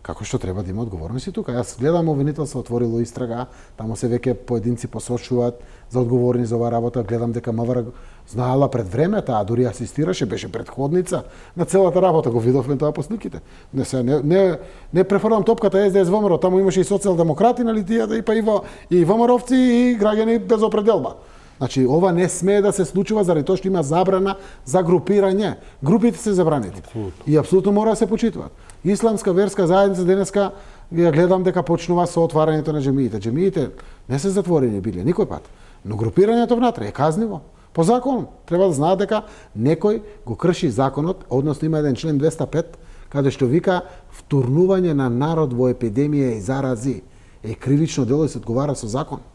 Како што треба да има одговорност и тука. Јас гледам обвинителство отворило истрага, таму се веќе поединци посочуваат за одговорни за оваа работа, гледам дека МВР знаела пред времето, а дури асистираше, беше предходница на целата работа, го видовме тоа по сниките. Не префрлам топката СДС ВМРО, таму имаше и социјалдемократи, нали тие, и па и ВМРО-овци и граѓани без определба. Значи, ова не смее да се случува заради тоа што има забрана за групирање. Групите се забранети. И апсолутно мора да се почитуваат. Исламска верска заедница денеска ја гледам дека почнува со отварањето на џамиите. Џамиите не се затворени биле никој пат, но групирањето внатре е казниво. По закон треба да знаат дека некој го крши законот, односно има еден член 205 каде што вика втурнување на народ во епидемија и зарази е кривично дело и се одговара со закон.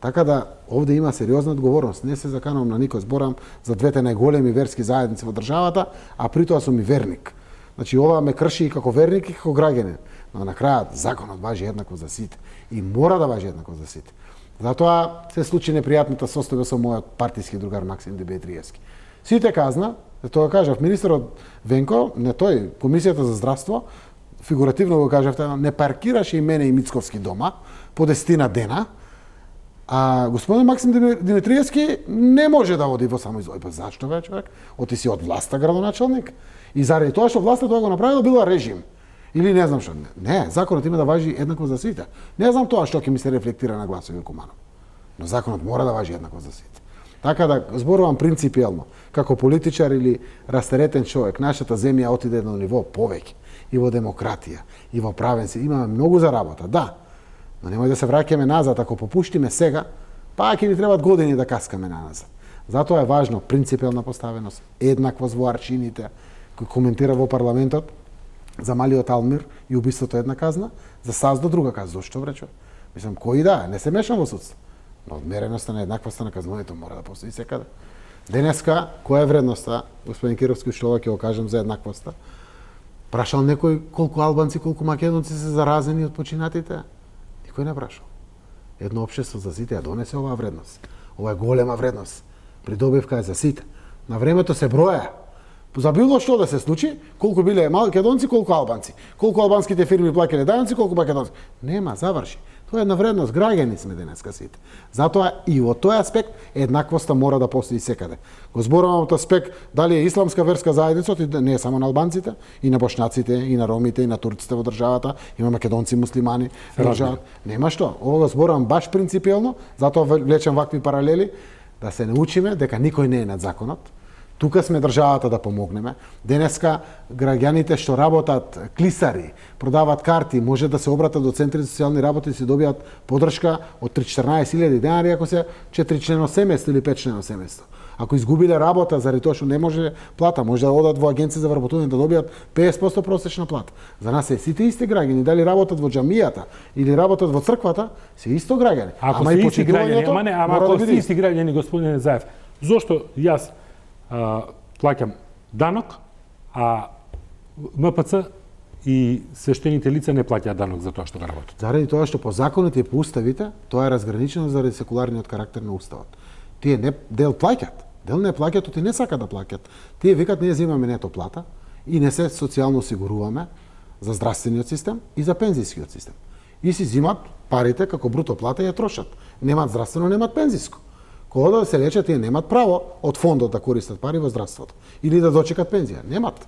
Така да овде има сериозна одговорност. Не се заканувам на никој, зборам за двете најголеми верски заедници во државата, а при тоа сум и верник. Значи ова ме крши и како верник и како граѓанин. Но на крајот законот важи еднакво за сите и мора да важи еднакво за сите. Затоа се случи непријатната состојба со мојот партиски другар Максим Димитриевски. Сите казна, тоа кажав министерот Венко, не тој, Комисијата за здравство, фигуративно го кажавте, не паркираше и мене и Мицковски дома по 10 дена. А господин Максим Димитриевски не може да оди во самоизолација. Зашто бе, човек? Оти си од власта градоначалник. И заради тоа што власта тоа го направила, била режим. Или не знам што. Не, законот има да важи еднакво за сите. Не знам тоа што ќе ми се рефлектира на гласови Куманов. Но законот мора да важи еднакво за сите. Така да зборувам принципиелно, како политичар или растеретен човек, нашата земја отиде на ниво повеќе и во демократија, и во правен си. Имаме многу за работа, да. Но немој да се враќаме назад, ако попуштиме сега, па ќе ни требат години да каскаме назад. Затоа е важно принципиелна поставеност, еднаквост во аршините, кој коментира во парламентот за малиот Алмир и убиството една казна, за САЗДО друга казна. Зошто вречо? Мислам, кој да, не се мешам во судство. Но одмереноста на еднаквоста на казнувањето мора да постои секаде. Денеска, која е вредноста, господин Кировски, што ќе го кажем за еднаквоста? Прашал некој колку албанци, колку македонци се заразени од починатите? Никој не прашал. Едно општество за сите ја донесе оваа вредност. Ова е голема вредност. Придобивка е за сите. На времето се броја. За било што да се случи, колку биле македонци, колку албанци. Колку албанските фирми плаќале данъци, колку македонци. Нема, заврши. Тоа е една вредност, граѓани сме денеска сите. Затоа и во тој аспект еднаквоста мора да постои секаде. Го зборувам од аспект дали е исламска верска заедница, не е само на албанците, и на бошњаците, и на ромите, и на турците во државата, има македонци муслимани во државата. Нема што, ова го зборувам баш принципиелно, затоа влечам вакви паралели, да се научиме дека никој не е над законот. Тука сме државата да помогнеме. Денеска граѓаните што работат клисари, продават карти, може да се обратат до центри за социјални работи и се добијат подршка од 3-14.000 денари ако се 4-члено семејство или 5-члено семејство. Ако изгубиле работа заради тоа што не може плата, може да одат во агенција за вработување да добијат 50% просечна плата. За нас се сите исти граѓани, дали работат во џамијата или работат во црквата, се исто граѓани. Ако се исти граѓани, ако се исти граѓани, господине Заев, зошто јас плаќам данок, а МПЦ и свештените лица не плаќаат данок за тоа што го работат? Заради тоа што по законите и по уставите, тоа е разграничено заради секуларниот карактер на уставот. Тие не дел плаќаат, дел не плаќаат, оти не сакаат да плаќаат. Тие викат ние земаме нето плата и не се социјално осигуруваме за здравствениот систем и за пензискиот систем. И си зимат парите како бруто плата и ја трошат. Немаат здравствено, немаат пензиско. Кога да се лечат, тие немаат право од фондот да користат пари во здравството или да дочекат пензија. Немаат.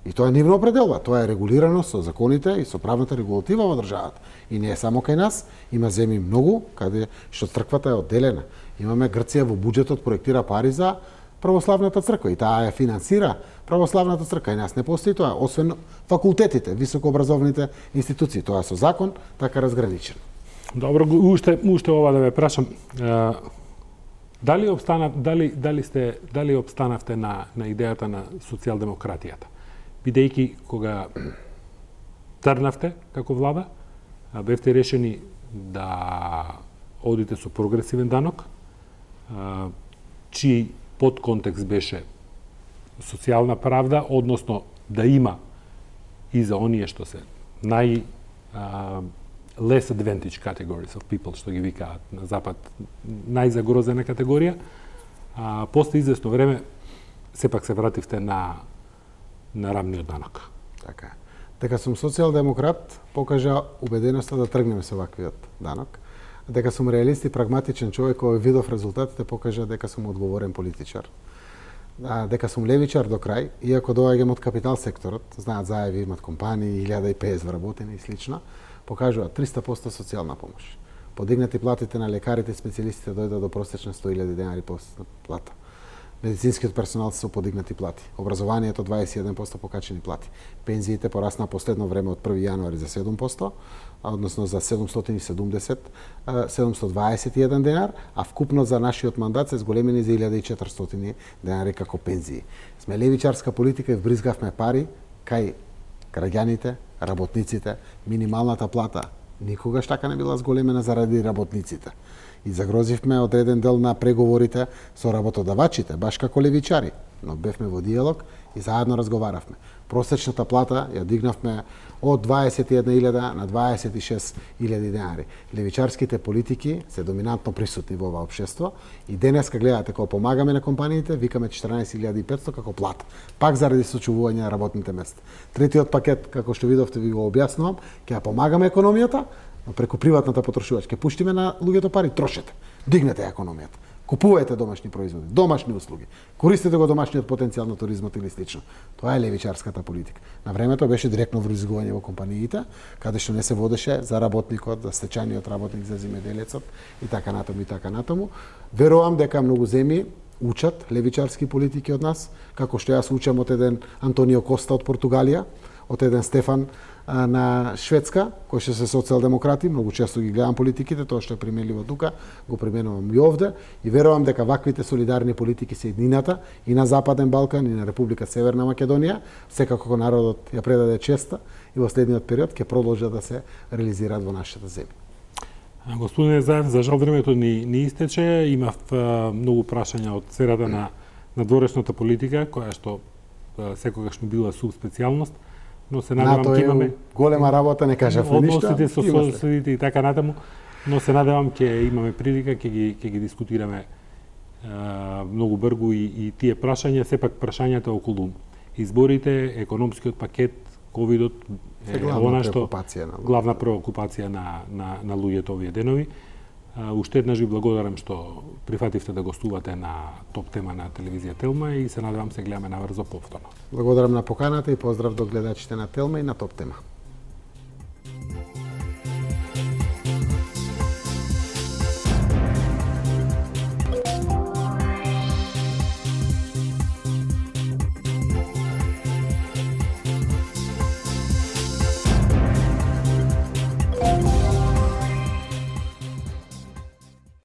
И тоа е нивна определба. Тоа е регулирано со законите и со правната регулатива во државата. И не е само кај нас, има земји многу каде што црквата е одделена. Имаме Грција во буџетот проектира пари за православната црква и таа ја финансира православната црква. И нас не постои тоа, освен факултетите, високообразовните институции. Тоа со закон така разграничено. Добро, уште ова да ве прашам. Дали обстанавте на идејата на социјалдемократијата? Бидејќи кога трнавте како влада, бевте решени да одите со прогресивен данок, чиј подконтекст беше социјална правда, односно да има и за оние што се less advantaged categories of people, што ги викаат на Запад, најзагрозена категорија. После известно време, сепак се вративте на рамниот данок. Така. Дека сум социјалдемократ, покажа убеденоста да тргнеме со ваквиот данок. Дека сум реалист и прагматичен човек, кој видов резултатите, покажа дека сум одговорен политичар. Дека сум левичар до крај, иако доаѓам од капитал секторот, знаат Заеви имат компании, 1050 вработени и слично, покажуваат 300% социјална помош. Подигнати платите на лекарите и специјалистите дојдат до просечна 100.000 денари плата. Медицинскиот персонал се подигнати плати. Образованието 21% покачени плати. Пензиите пораснаа последно време од 1 јануари за 7%, односно за 721 денар, а вкупно за нашиот мандат се зголемени за 1400 денари како пензии. Сме левичарска политика и вбризгавме пари кај граѓаните, работниците, минималната плата никогаш така не била зголемена заради работниците. И загрозивме одреден дел на преговорите со работодавачите, баш како левичари, но бевме во диалог и заедно разговаравме. Просечната плата ја дигнавме од 21.000 на 26.000 денари. Левичарските политики се доминантно присутни во ова општество и денеска гледате кога помагаме на компаниите, викаме 14.500 како плата, пак заради сочувување на работните места. Третиот пакет, како што видовте, ви го објаснувам, ќе ја помагаме економијата, но преку приватната потрошувачка. Пуштиме на луѓето пари, трошете, дигнете економијата. Купувајте домашни производи, домашни услуги. Користете го домашниот потенцијал на туризмот или слично. Тоа е левичарската политика. На времето беше директно вризгување во компаниите, каде што не се водеше за работникот, за стечајниот работник, за земјоделецот и така натаму и така натаму. Верувам дека многу земји учат левичарски политики од нас, како што јас учам од еден Антонио Коста од Португалија, од еден Стефан на Шведска, кои што се социјалдемократи, многу често ги гледам политиките, тоа што е применливо тука, го применувам и овде и верувам дека ваквите солидарни политики се еднината и на Западен Балкан и на Република Северна Македонија, секако народот ја предаде честа и во следниот период ќе продолжат да се реализираат во нашата земја. Господине Заев, за жал времето ни истече, имав многу прашања од сферата на дворешната политика, која што секогаш ми била субспецијалност, но се надевам ќе имаме голема работа, не кажавме ништо. Односите со соседите и така натаму, но се надевам ќе имаме прилика, ќе ги дискутираме многу брзо и тие прашања, сепак прашањата околу изборите, економскиот пакет ковидот е она што главна преокупација на луѓето овие денови. Уште еднаш ви благодарам што прифативте да гостувате на топ тема на телевизија Телма и се надевам се гледаме наврзо повторно. Благодарам на поканата и поздрав до гледачите на Телма и на топ тема.